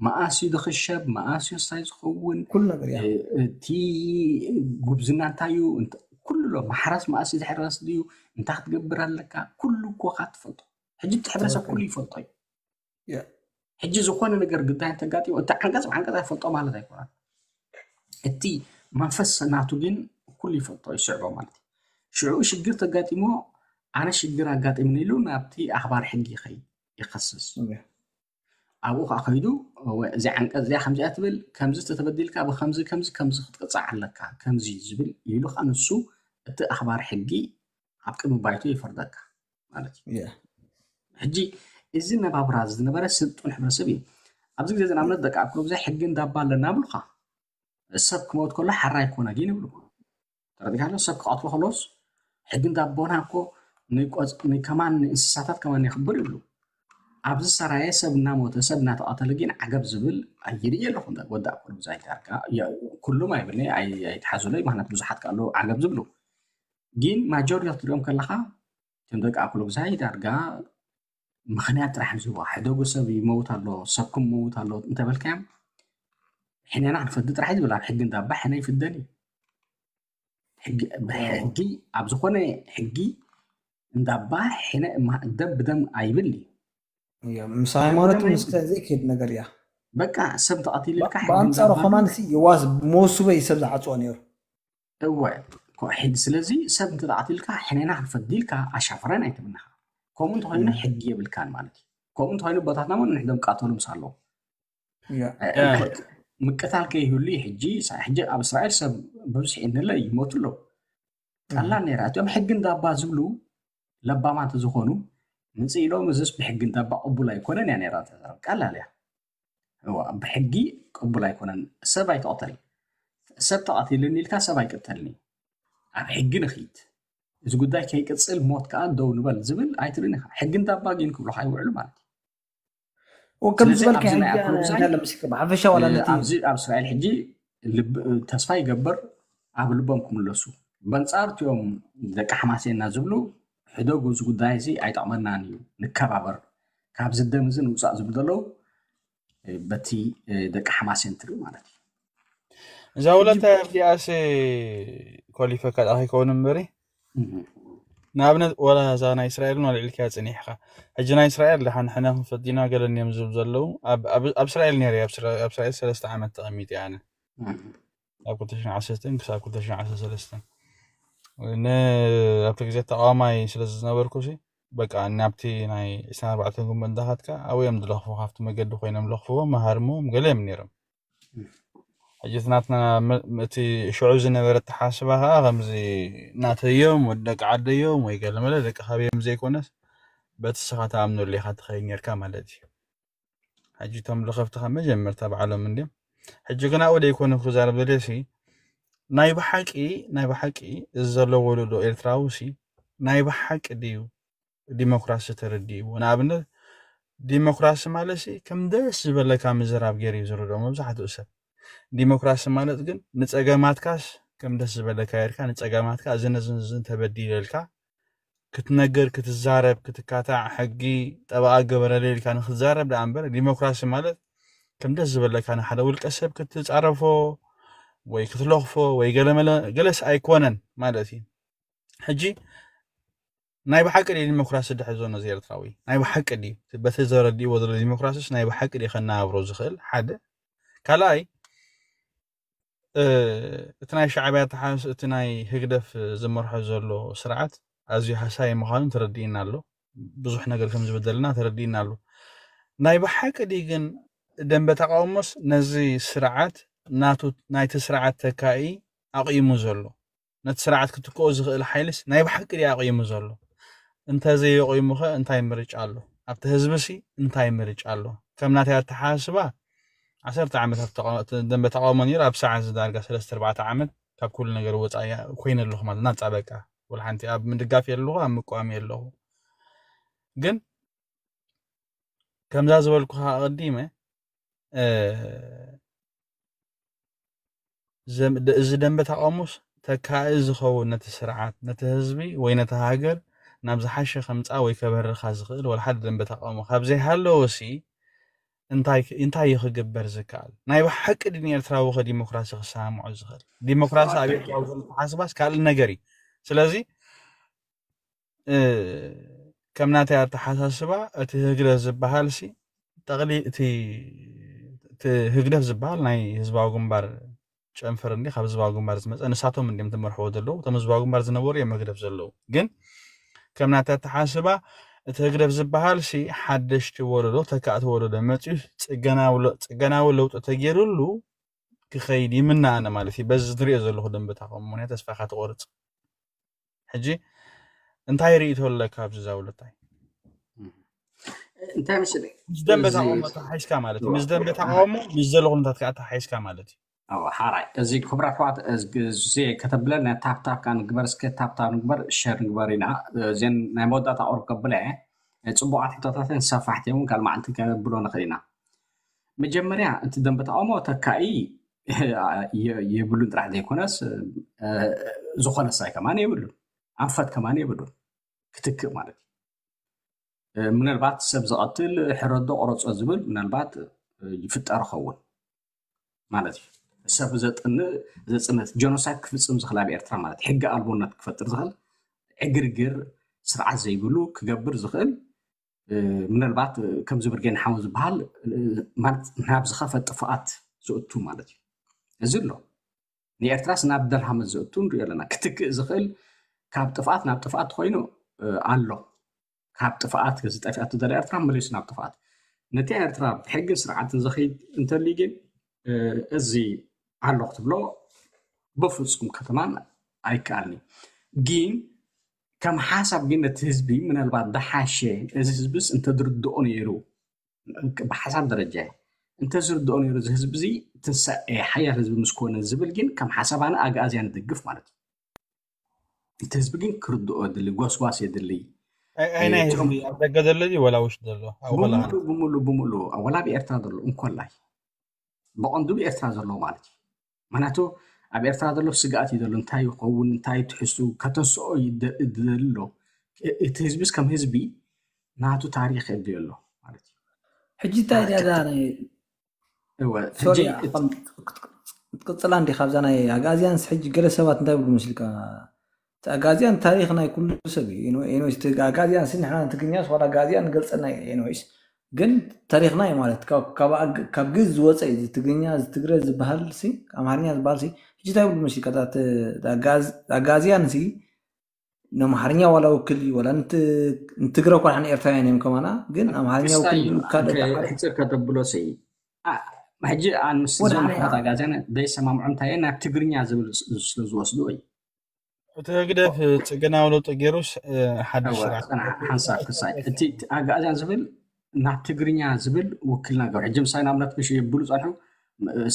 መኣስ እዩ ዝኽሸብ መኣስ እዩ እንታይ ዝኸውን ኩሉ ነገር እያ። እቲ ጉብዝና እንታይ እዩ እንተ- ኩሉ ኣሎ ማሕረስ መኣስ እዩ ዝሕረስ ድዩ እንታይ ክትገብር ኣለካ ኩሉ እኮ ካ ትፈልጦ። ሕጂ እቲ ሕብረተሰብ ኩሉ ይፈልጦ እዩ። ያ። ሕጂ ዝኾነ ነገር ግዳይ እንተጋጢሙ እቲ ዓንቀፅ ብዓንቀፅ ኣይፈልጦ ማለት ኣይኮነን። እቲ መንፈስ ናቱ ግን ኩሉ ይፈልጦ ይስዕቦ ማለት እዩ። ሽዑ ሽግር ተጋጢሞ ኣነ ሽግር ኣጋጢምኒ ኢሉ ናብቲ ኣኽባር ሕጊ ይኸይድ ይኸስስ። ኦኬ። ኣብኡ ከዓ ከይዱ "እወ፣ እዚ ዓንቀፅ እዚኣ ከምዚኣ ትብል ከምዚ ተተበዲልካ ብከምዚ ከምዚ ከምዚ ክትቅፃዕ ኣለካ ከምዚ ዝብል ኢሉ ከዓ ንሱ እቲ ኣኽባር ሕጊ ኣብ ቅድሚ ባይቶ ይፈርደካ ማለት እዩ። ያ። ሕጂ እዚ ነባብራ ዝነበረ ስልጡን ሕብረተሰብ እዩ። ኣብዚ ግዜ እዚ ንኣብነት ደቂ ኣክሎ ግዜ ሕጊ እንዳባ ኣለና ብሉካ ሰብ ክመውት ከሎ ሓራ ይኮነ ግን ይብሉ ተረዲካሎ ሰብ ክቐትሎ ከሎስ ሕጊ እንዳቦና እኮ ንቆፅ- ንከማን ንእንስሳታት ከማን የኽብር ይብሉ። ኣብዚ ሰራየ ሰብ እናሞተ ሰብ እናተቐተለ ግን ዓገብ ዝብል ኣይርኢ ኣለኹ። ወዲ ኣኮሉ ብዛይ ዳርጋ ያ- ኩሉም ኣይብልኒ ኣይ- ኣይትሓዙለይ ምክንያት ብዙሓት ካሉ ዓገብ ዝብሉ ግን ማጆሪቲ ትሪኦም ከለካ እቶም ደቂ ኣኮሉ ብዛይ ዳርጋ ምክንያት ጥራሕ ዝዋ ሕደጉ ሰብ ይመውት ኣሎ ሰብ ክመውት ኣሎ እንተበልካዮም ሕነና ክንፈዲ ጥራሕ ዝብል ኣብ ሕጊ እንዳባ ሕነ ይፍደን እዩ። ሕጊ ብሕጊ ኣብ ዝኾነ ሕጊ እንዳባ ሕነ እማ- ደም ብደም ኣይብል እዩ። እያ፣ ምስ ሃይማኖት ምስ ዘይከይድ ነገር እያ። በቃ ሰብ ተቐቲሉ ኢልካ ሕጊ ብኣንፃሩ እንዳባ ከማን ሲ የዋስ መወስበ እዩ ሰብ ዝዓፅዎ ነይሩ። እወ ኮ- ሕጊ ስለዚ ሰብ እንተተቐቲልካ ሕነና ክንፈዲ ኢልካ ኣሻፈረን ኣይትብልናኻ። ከምኡ እንተኮይኑ ሕጊ የብልካን ማለት እዩ። ከምኡ እንተኮይኑ ቦታትና እውን ንሕዶም ቃተሉ ምስ ኣለዉ እያ። ምቅታል ከይህሉ እዩ። ሕጂ ሳ- ሕጂ ኣብ እስራኤል ሰብ ብብዝሒ እንለ ይሞቱ ኣለዉ። ቀላል ነይራ እቲኦም ሕጊ እንዳባ ዝብሉ ለባማት ዝኾኑ ምጽእ ኢሎም እዚስ ብሕጊ እንዳባ ቅቡል ኣይኮነን እያ ነይራ እታ ዘረባ። ቀላል እያ። እዋ፣ ብሕጊ ቅቡል ኣይኮነን። ሰብ ኣይትቕተል። ሰብ ተቐቲልኒ ኢልካ ሰብ ኣይቅተልኒ። ኣብ ሕጊ ንኺድ። እዚ ጉዳይ ከይቅጽል ሞት ከኣ ደው ንበል ዝብል ኣይትርእን ኢኻ። ሕጊ እንዳባ ግን ክብሉኻ ይውዕሉ ማለት እዩ። ወከም ስለዚ ዝበልካ ኣብዚ ናይ ሕጂ ኣክሎ ግዛይ እንታይ ለምስክ ብሓፈሻ ዋላ ነቲ ኣብዚ ኣብ እስራኤል ሕጂ ልብ- ተስፋ ይገብር ኣብ ልቦም ክምለሱ። በንጻር እቲኦም ደቂ ሓማሴንና ዝብሉ፣ ሕደጉ፣ እዚ ጉዳይ እዚ ኣይጠቕመናን እዩ፣ ንከባበር፣ ካብዚ ደም እዚ ንውፃእ ዝብሉ ዘለዉ፣ በቲ ደቂ ሓማሴን ትሪኡ ማለት እዩ። እዛ ውለታ እዚኣስ ኮሊፈካ ዳ ከይከውን እምበሪ፣ ንኣብነት ወላ እዛ ናይ እስራኤል ን ልዕልካ ጽኒሕካ፣ ሕጂ ናይ እስራኤል ደሓን ሕነ ክንፈዲና ገለን እዮም ዝብሉ ዘለዉ። ኣብ እስራኤል ነይረ፣ ኣብ እስራኤል ሰለስተ ዓመት ተቐሚጠ ኣነ፣ ካብ ክልተ ሽሕን ዓሰርተ ክሳብ ክልተ ሽሕን ዓሰርተ ሰለስተን። ኣብቲ ግዜ ተቃዋማይ ስለ ዝነበርኩ ሲ፣ በቃ ናብቲ ናይ ዕስራን ኣርባዕተን ጉንበት እንዳኸድካ ኣብኡ እዮም ዝለኽፉ፣ ካብቲ መገዲ ኮይኖም ለኽፍዎም፣ መሃርምዎም ገለ እዮም ነይሮም። ሕጂ እቲ ናትና፣ እቲ ሽዑ ዝነበረ ኣተሓስባ ከዓ ከምዚ ናተዮም፣ ወዲ ደቂ ዓደዮም ወይ ገለመለ ደቂ ካበዮም ዘይኮነስ፣ በቲ ስኻ ተኣምነሉ ኢኻ ትኸይድ ነርካ ማለት እዩ። ሕጂ እቶም ለኸፍቲ ካብ መጀመርታ ባዕሎም እንድዮም። ሕጂ ግን ኣብኡ ደይኮነ ክዛረብ ደልየ ሲ፣ ናይ ብሓቂ፣ ናይ ብሓቂ እዚ ዘሎ ወለዶ ኤርትራዊ ሲ ናይ ብሓቂ ድዩ ዲሞክራሲ ተረዲእዎ? ንኣብነት ዲሞክራሲ ማለት ሲ ከም ደስ ዝበለካ ምዝራብ ገይሩ እዩ ዝርድኦ መብዛሕትኡ ሰብ። ዲሞክራሲ ማለት ግን ንጸገማትካስ ከም ደስ ዝበለካ ጌርካ፣ ንጸገማትካ እዚ ነዚ ነዚ ተበዲለ ኢልካ ክትነግር፣ ክትዛረብ፣ ክትካታዕ፣ ሕጊ ጠበቓ ገበረለይ ኢልካ ንክትዛረብ ደኣ እምበር፣ ዲሞክራሲ ማለት ከም ደስ ዝበለካ ንሓደ ውልቀ ሰብ ክትጻረፎ ወይ ክትለኽፎ ወይ ገለመለ፣ ገለስ ኣይኮነን ማለት እዩ። ሕጂ ናይ ብሓቂ ድዩ ዲሞክራሲ ድሕዞ ነዚ ኤርትራዊ? ናይ ብሓቂ ድዩ? በቲ ዘረድእዎ ዘሎ ዲሞክራሲስ ናይ ብሓቂ ድዩ ከነባብሮ ዝኽእል? ሓደ። ካልኣይ፣ እ፣ እቲ ናይ ሻዕብያ ተሓስ-፣ እቲ ናይ ህግደፍ ዝመርሖ ዘሎ ስርዓት ኣዝዩ ሃሳይ ምዃኑ ተረዲእና ኣሎ። ብዙሕ ነገር ከም ዝበደልና ተረዲእና ኣሎ። ናይ ብሓቂ ድዩ ግን ደንበ ተቃውሞስ ነዚ ስርዓት ናቱ፣ ናይቲ ስርዓት ተካኢ ኣቕይሙ ዘሎ? ነቲ ስርዓት ክትክኦ ዝኽእል ሓይልስ ናይ ብሓቂ ድዩ ኣቕይሙ ዘሎ? እንተዘየቕይሙኸ እንታይ ምርጫ ኣሎ? ኣብቲ ህዝብሲ እንታይ ምርጫ ኣሎ? ከም ናተይ ኣተሓሳስባ ዓሰርተ ዓመት ኣብ ተቃ-፣ ደንበ ተቃውሞ ነይሩ፣ ኣብ ሰዓት እዚ ዳርጋ ሰለስተ ኣርባዕተ ዓመት ካብ ኩሉ ነገር ወፃኢ ኮይነ ኣለኹ ማለት ናፃ በቃ። ወላ ሓንቲ ኣብ ምድጋፍ የለኹ፣ ኣብ ምቋም የለኹ። ግን ከምዛ ዝበልኩኻ ኣቐዲመ፣ እ፣ ዘም-፣ ደ-፣ እዚ ደንበ ተቃውሞስ ተካኢ ዝኸውን ነቲ ስርዓት፣ ነቲ ህዝቢ ወይ ነቲ ሃገር ናብ ዝሓሸ ከምጻ ወይ ከበርኻ ዝኽእል ወላ ሓደ ደንበ ተቃውሞ ካብ ዘይሃለወሲ እንታይ ክ-፣ እንታይ እዩ ክግበር ዝከኣል? ናይ ብሓቂ ድን ኤርትራዊ ከ ዲሞክራሲ ክሰማምዖ ዝኽእል? ዲሞክራሲ ኣብ ኤርትራዊ ዘሎ ተሓስባስ ካልእ ነገር እዩ። ስለዚ፣ እ፣ ከም ናተይ ኣተሓሳስባ እቲ ህግደፍ ዝበሃል ሲ ጠቕሊ-፣ እቲ፣ እቲ ህግደፍ ዝበሃል ናይ ህዝባዊ ግንባር ጨንፈር እንዲ ካብ ህዝባዊ ግንባር ዝመፀ ንሳቶም እንዲም ትመርሕዎ ዘለዉ። እቶም ህዝባዊ ግንባር ዝነበሩ እዮም ህግደፍ ዘለዉ። ግን ከም ናተይ ኣተሓሳስባ እቲ ህግደፍ ዝበሃል ሲ ሓደሽቲ ወለዶ፣ ተካእቲ ወለዶ መፅዩ ፅገናዊ ለ-፣ ፅገናዊ ለውጢ ተገይሩሉ ክኸይድ ይምነ ኣነ ማለት እዩ። በዚ ዝሪኦ ዘለኹ ደንበ ተቃውሞ ምኽንያት ተስፋ ኢኻ ትቆርፅ። ሕጂ እንታይ ርእይቶ ኣለካ ኣብዚ ዛውለታይ? እንታይ መሰለኝ፣ ምስ ደንበ እዚ ተቃውሞ ተሓሒዝካ ማለት እዩ። እዋ፣ ምስ ደንበ ተቃውሞ ምስ ዘሎ ኩነታት ከዓ ተሓሒዝካ ማለት እዩ። እዋ፣ ሓራይ፣ እዚ ክቡራት ኣሕዋት፣ እዚ ግዜ ከተብለና ታፕታፕ ከዓ ንግበር፣ እስከ ታፕታፕ ንግበር፣ ሸር ንግበር ኢና። እዘን ናይ መወዳእታ ቁሩብ ከብለ እየ። ጽቡቓት ሕቶታትን ሰፋሕቲ እውን ካልእ መዓልቲ ከነብሎ ንኽእል ኢና። መጀመርያ እቲ ደንበ ተቃውሞ ተካኢ የ-፣ የብሉን ጥራሕ ዘይኮነስ፣ እ፣ ዝኾነ ሳይ ከማን የብሉን፣ ኣንፈት ከማን የብሉን ክትክእ ማለት እዩ። እ፣ ምናልባት ሰብ ዝቐትል ሕረዶ ቁረጾ ዝብል ምናልባት፣ እ፣ ይፍጠር ይኸውን ማለት እዩ። ሰብ ዘጥንእ፣ ዘጽንት፣ ጀኖሳይድ ክፍጽም ዝኽእል ኣብ ኤርትራ ማለት እዩ። ሕጊ ኣልቦነት ክፈጥር ዝኽእል፣ ዕግርግር፣ ስርዓት ዘይብሉ ክገብር ዝኽእል፣ እ፣ ምናልባት፣ እ፣ ከምዚ ብርጌን ሓው ዝበሃል፣ እ፣ ማለት ናብ ዝኸፈ ጥፍኣት ዘእቱ ማለት እዩ። እዚ ኣሎ። ንኤርትራስ ናብ ደልሃመት ዘእቱ ንሪኦ ኣለና። ክትክእ ዝኽእል ካብ ጥፍኣት ናብ ጥፍኣት ኮይኑ፣ እ፣ ኣሎ። ካብ ጥፍኣት፣ እዚ ጠፊኣቶ ዘላ ኤርትራ መሊሱ ናብ ጥፍኣት። ነቲ ኤርትራ ብሕግን ስርዓትን ዘኽይድ እንተልዩ ግን፣ እ፣ እዚ ኣሎ ክትብሎ ብፍጹም ከተማን ኣይከኣልን እዩ። ግን ከም ሓሳብ ግን ነቲ ህዝቢ ምናልባት ደሓሸ፣ እዚ ህዝብስ እንተዝርድኦ ነይሩ፣ ብሓሳብ ደረጃ እንተዝርድኦ ነይሩ፣ እዚ ህዝቢ እዚ ትንሳኤ ሓያል ህዝቢ ምስ ኮነ ዝብል ግን ከም ሓሳብ ኣነ ኣግኣዝያን እድግፍ ማለት እዩ። እቲ ህዝቢ ግን ክርድኦ የድሊ፣ ጎስጓስ የድሊ። ኣይ-፣ ኣይ ናይ እቶም ህዝቢ ኣብ ደገ ዘሎ ድዩ ወላ ውሽጢ ዘሎ? ኣብ ወላ ብምሉእ፣ ብምሉእ፣ ብምሉእ፣ ወላ ኣብ ኤርትራ ዘሎ እንኮላይ፣ ብቐንዱ ብኤርትራ ዘሎ ማለት እዩ። ምክንያቱ ኣብ ኤርትራ ዘሎ ስግኣት እዩ ዘሎ። እንታይ ይኸውን፣ እንታይ ትሕሱ ከተንስኦ ይደ- ይደሊ ኣሎ። እቲ ህዝቢስ ከም ህዝቢ ናቱ ታሪኽ የድልዮ ኣሎ ማለት እዩ። ሕጂ እንታይ ድያ እዛ ናይ እወ፣ ሶሪ ሕጂ ከም ክትቅፅላ እንዲ ካብዛ ናይ ኣጋዝያንስ ሕጂ ገለ ሰባት እንታይ ብሉ መስልካ? እቲ ኣጋዝያን ታሪኽ ናይ ኩሉ ሰብ እዩ። ኤንወይስ እቲ ኣጋዝያን ሲ ንሕና ትግርኛስ ዋላ ኣጋዝያን ንገልፀና እዩ። ኤንወይስ ግን ታሪኽና እዩ ማለት ካብ- ካብ ኣግ- ካብ ግዝ ዝወፀ እዩ። እዚ ትግርኛ እዚ ትግረ ዝበሃል ሲ ኣምሓርኛ ዝበሃል ሲ ሕጂ እንታይ ብሉ መስልካ? እታ ት- ኣጋዝ- ኣጋዝያን ሲ ንኣምሓርኛ ዋላ ውክል እዩ ዋላ ንት- ንትግረ እኳ ንሕና ኤርትራውያን እዮም ከማና ግን ኣምሓርኛ ውክል እዩ ካልእ ሕፅር ከተብሎ ሲ አ- ሕጂ ኣንስ ወደ ዞም ኣነ- ኣሕዋት ኣጋዝያን ዘይሰማምዖም እንታይ እየ ናብ ትግርኛ ዝብል ስ- ስለ ዝወስዱ እዩ። እቲ ህግደፍ ጽገናዊ ለውጢ ገይሩስ እ፣ ሓድሽ እወ፣ ስርዓት ጽናሕ ሓንሳብ ክሳይ እቲ እቲ ኣጋዝያን ዝብል ናብ ትግርኛ ዝብል ውክልና ገሩ ሕጂ ምሳይ ንኣብነት ምሽ የብሉ ጸንሑ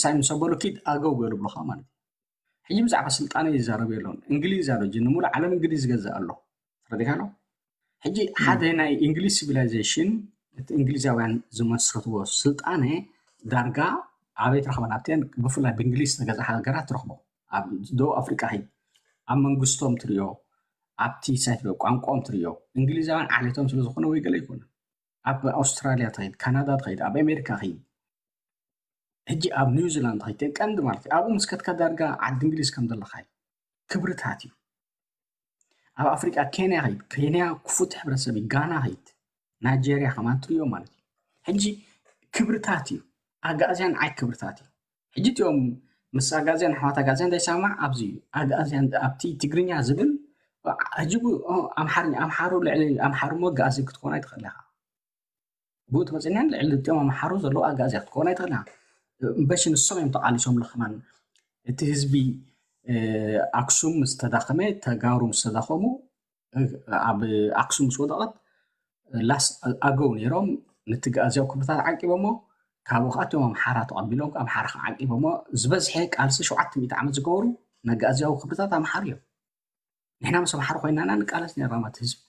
ሳይ ምስ ኣበሉ ኪድ ኣገው ገይሩ ብሎኻ ማለት እዩ። ሕጂ ብዛዕባ ስልጣነ ይዛረብ የለውን። እንግሊዝ ኣሎ ጂ ንሙሉ ዓለም እንግሊዝ ይገዛእ ኣሎ። ተረዲካ ኣሎ። ሕጂ ሓደ ናይ እንግሊዝ ሲቪላይዜሽን እቲ እንግሊዛውያን ዝመስረትዎ ስልጣነ ዳርጋ ኣበይ ትረኽበን ኣብተን ብፍላይ ብእንግሊዝ ዝተገዛ ሃገራት ትረኽቦ ኣብ ደቡብ ኣፍሪቃ ሂድ ኣብ መንግስቶም ትሪኦ ኣብቲ ሳይ ትሪኦ ቋንቋኦም ትሪኦ እንግሊዛውያን ዓሌቶም ስለ ዝኾነ ወይ ገለ ይኮነ ኣብ ኣውስትራሊያ ትኸይድ ካናዳ ትኸይድ ኣብ ኣሜሪካ ኸይድ ሕጂ ኣብ ኒውዚላንድ ትኸይድ ቀንዲ ማለት እዩ ኣብኡ ምስ ከትካ ዳርጋ ዓዲ እንግሊዝ ከም ዘለኻ እዩ ክብርታት እዩ ኣብ ኣፍሪቃ ኬንያ ኸይድ ኬንያ ክፉት ሕብረተሰብ እዩ ጋና ኸይድ ናይጀርያ ከማን ትሪኦ ማለት እዩ ሕጂ ክብርታት እዩ ኣጋእዝያን ዓይ ክብርታት እዩ ሕጂ እቲኦም ምስ ኣጋእዝያን ኣሕዋት ኣጋእዝያን ዘይሰማማዕ ኣብዚ እዩ ኣጋእዝያን ኣብቲ ትግርኛ ዝብል ሕጂ ኣምሓርኛ ኣምሓሩ ልዕሊ ኣምሓሩ ሞ ኣጋእዚ ክትኮን ኣይትኽእል ኢኻ ብኡ ትመፅእና ልዕሊ እቲኦም ኣምሓሩ ዘለዉ ኣጋእዝያ ክትኮን ኣይትኽእል ኢኻ እምበሽ ንሶም እዮም ተቃሊሶም ለኽማን እቲ ህዝቢ ኣክሱም ምስ ተዳኸመ ተጋሩ ምስ ተዳኸሙ ኣብ ኣክሱም ምስ ወደቐት ላስ ኣገው ነይሮም ነቲ ኣጋእዝያዊ ክብርታት ዓቂቦሞ ካብኡ ከዓ እቶም ኣምሓራ ተቐቢሎም ኣምሓራ ከዓ ዓቂቦሞ ዝበዝሐ ቃልሲ ሸውዓተ ሚእቲ ዓመት ዝገበሩ ነጋእዝያዊ ክብርታት ኣምሓሩ እዮም ንሕና ምስ ኣምሓሩ ኮይናና ንቃለስ ነርና ማለት ህዝቢ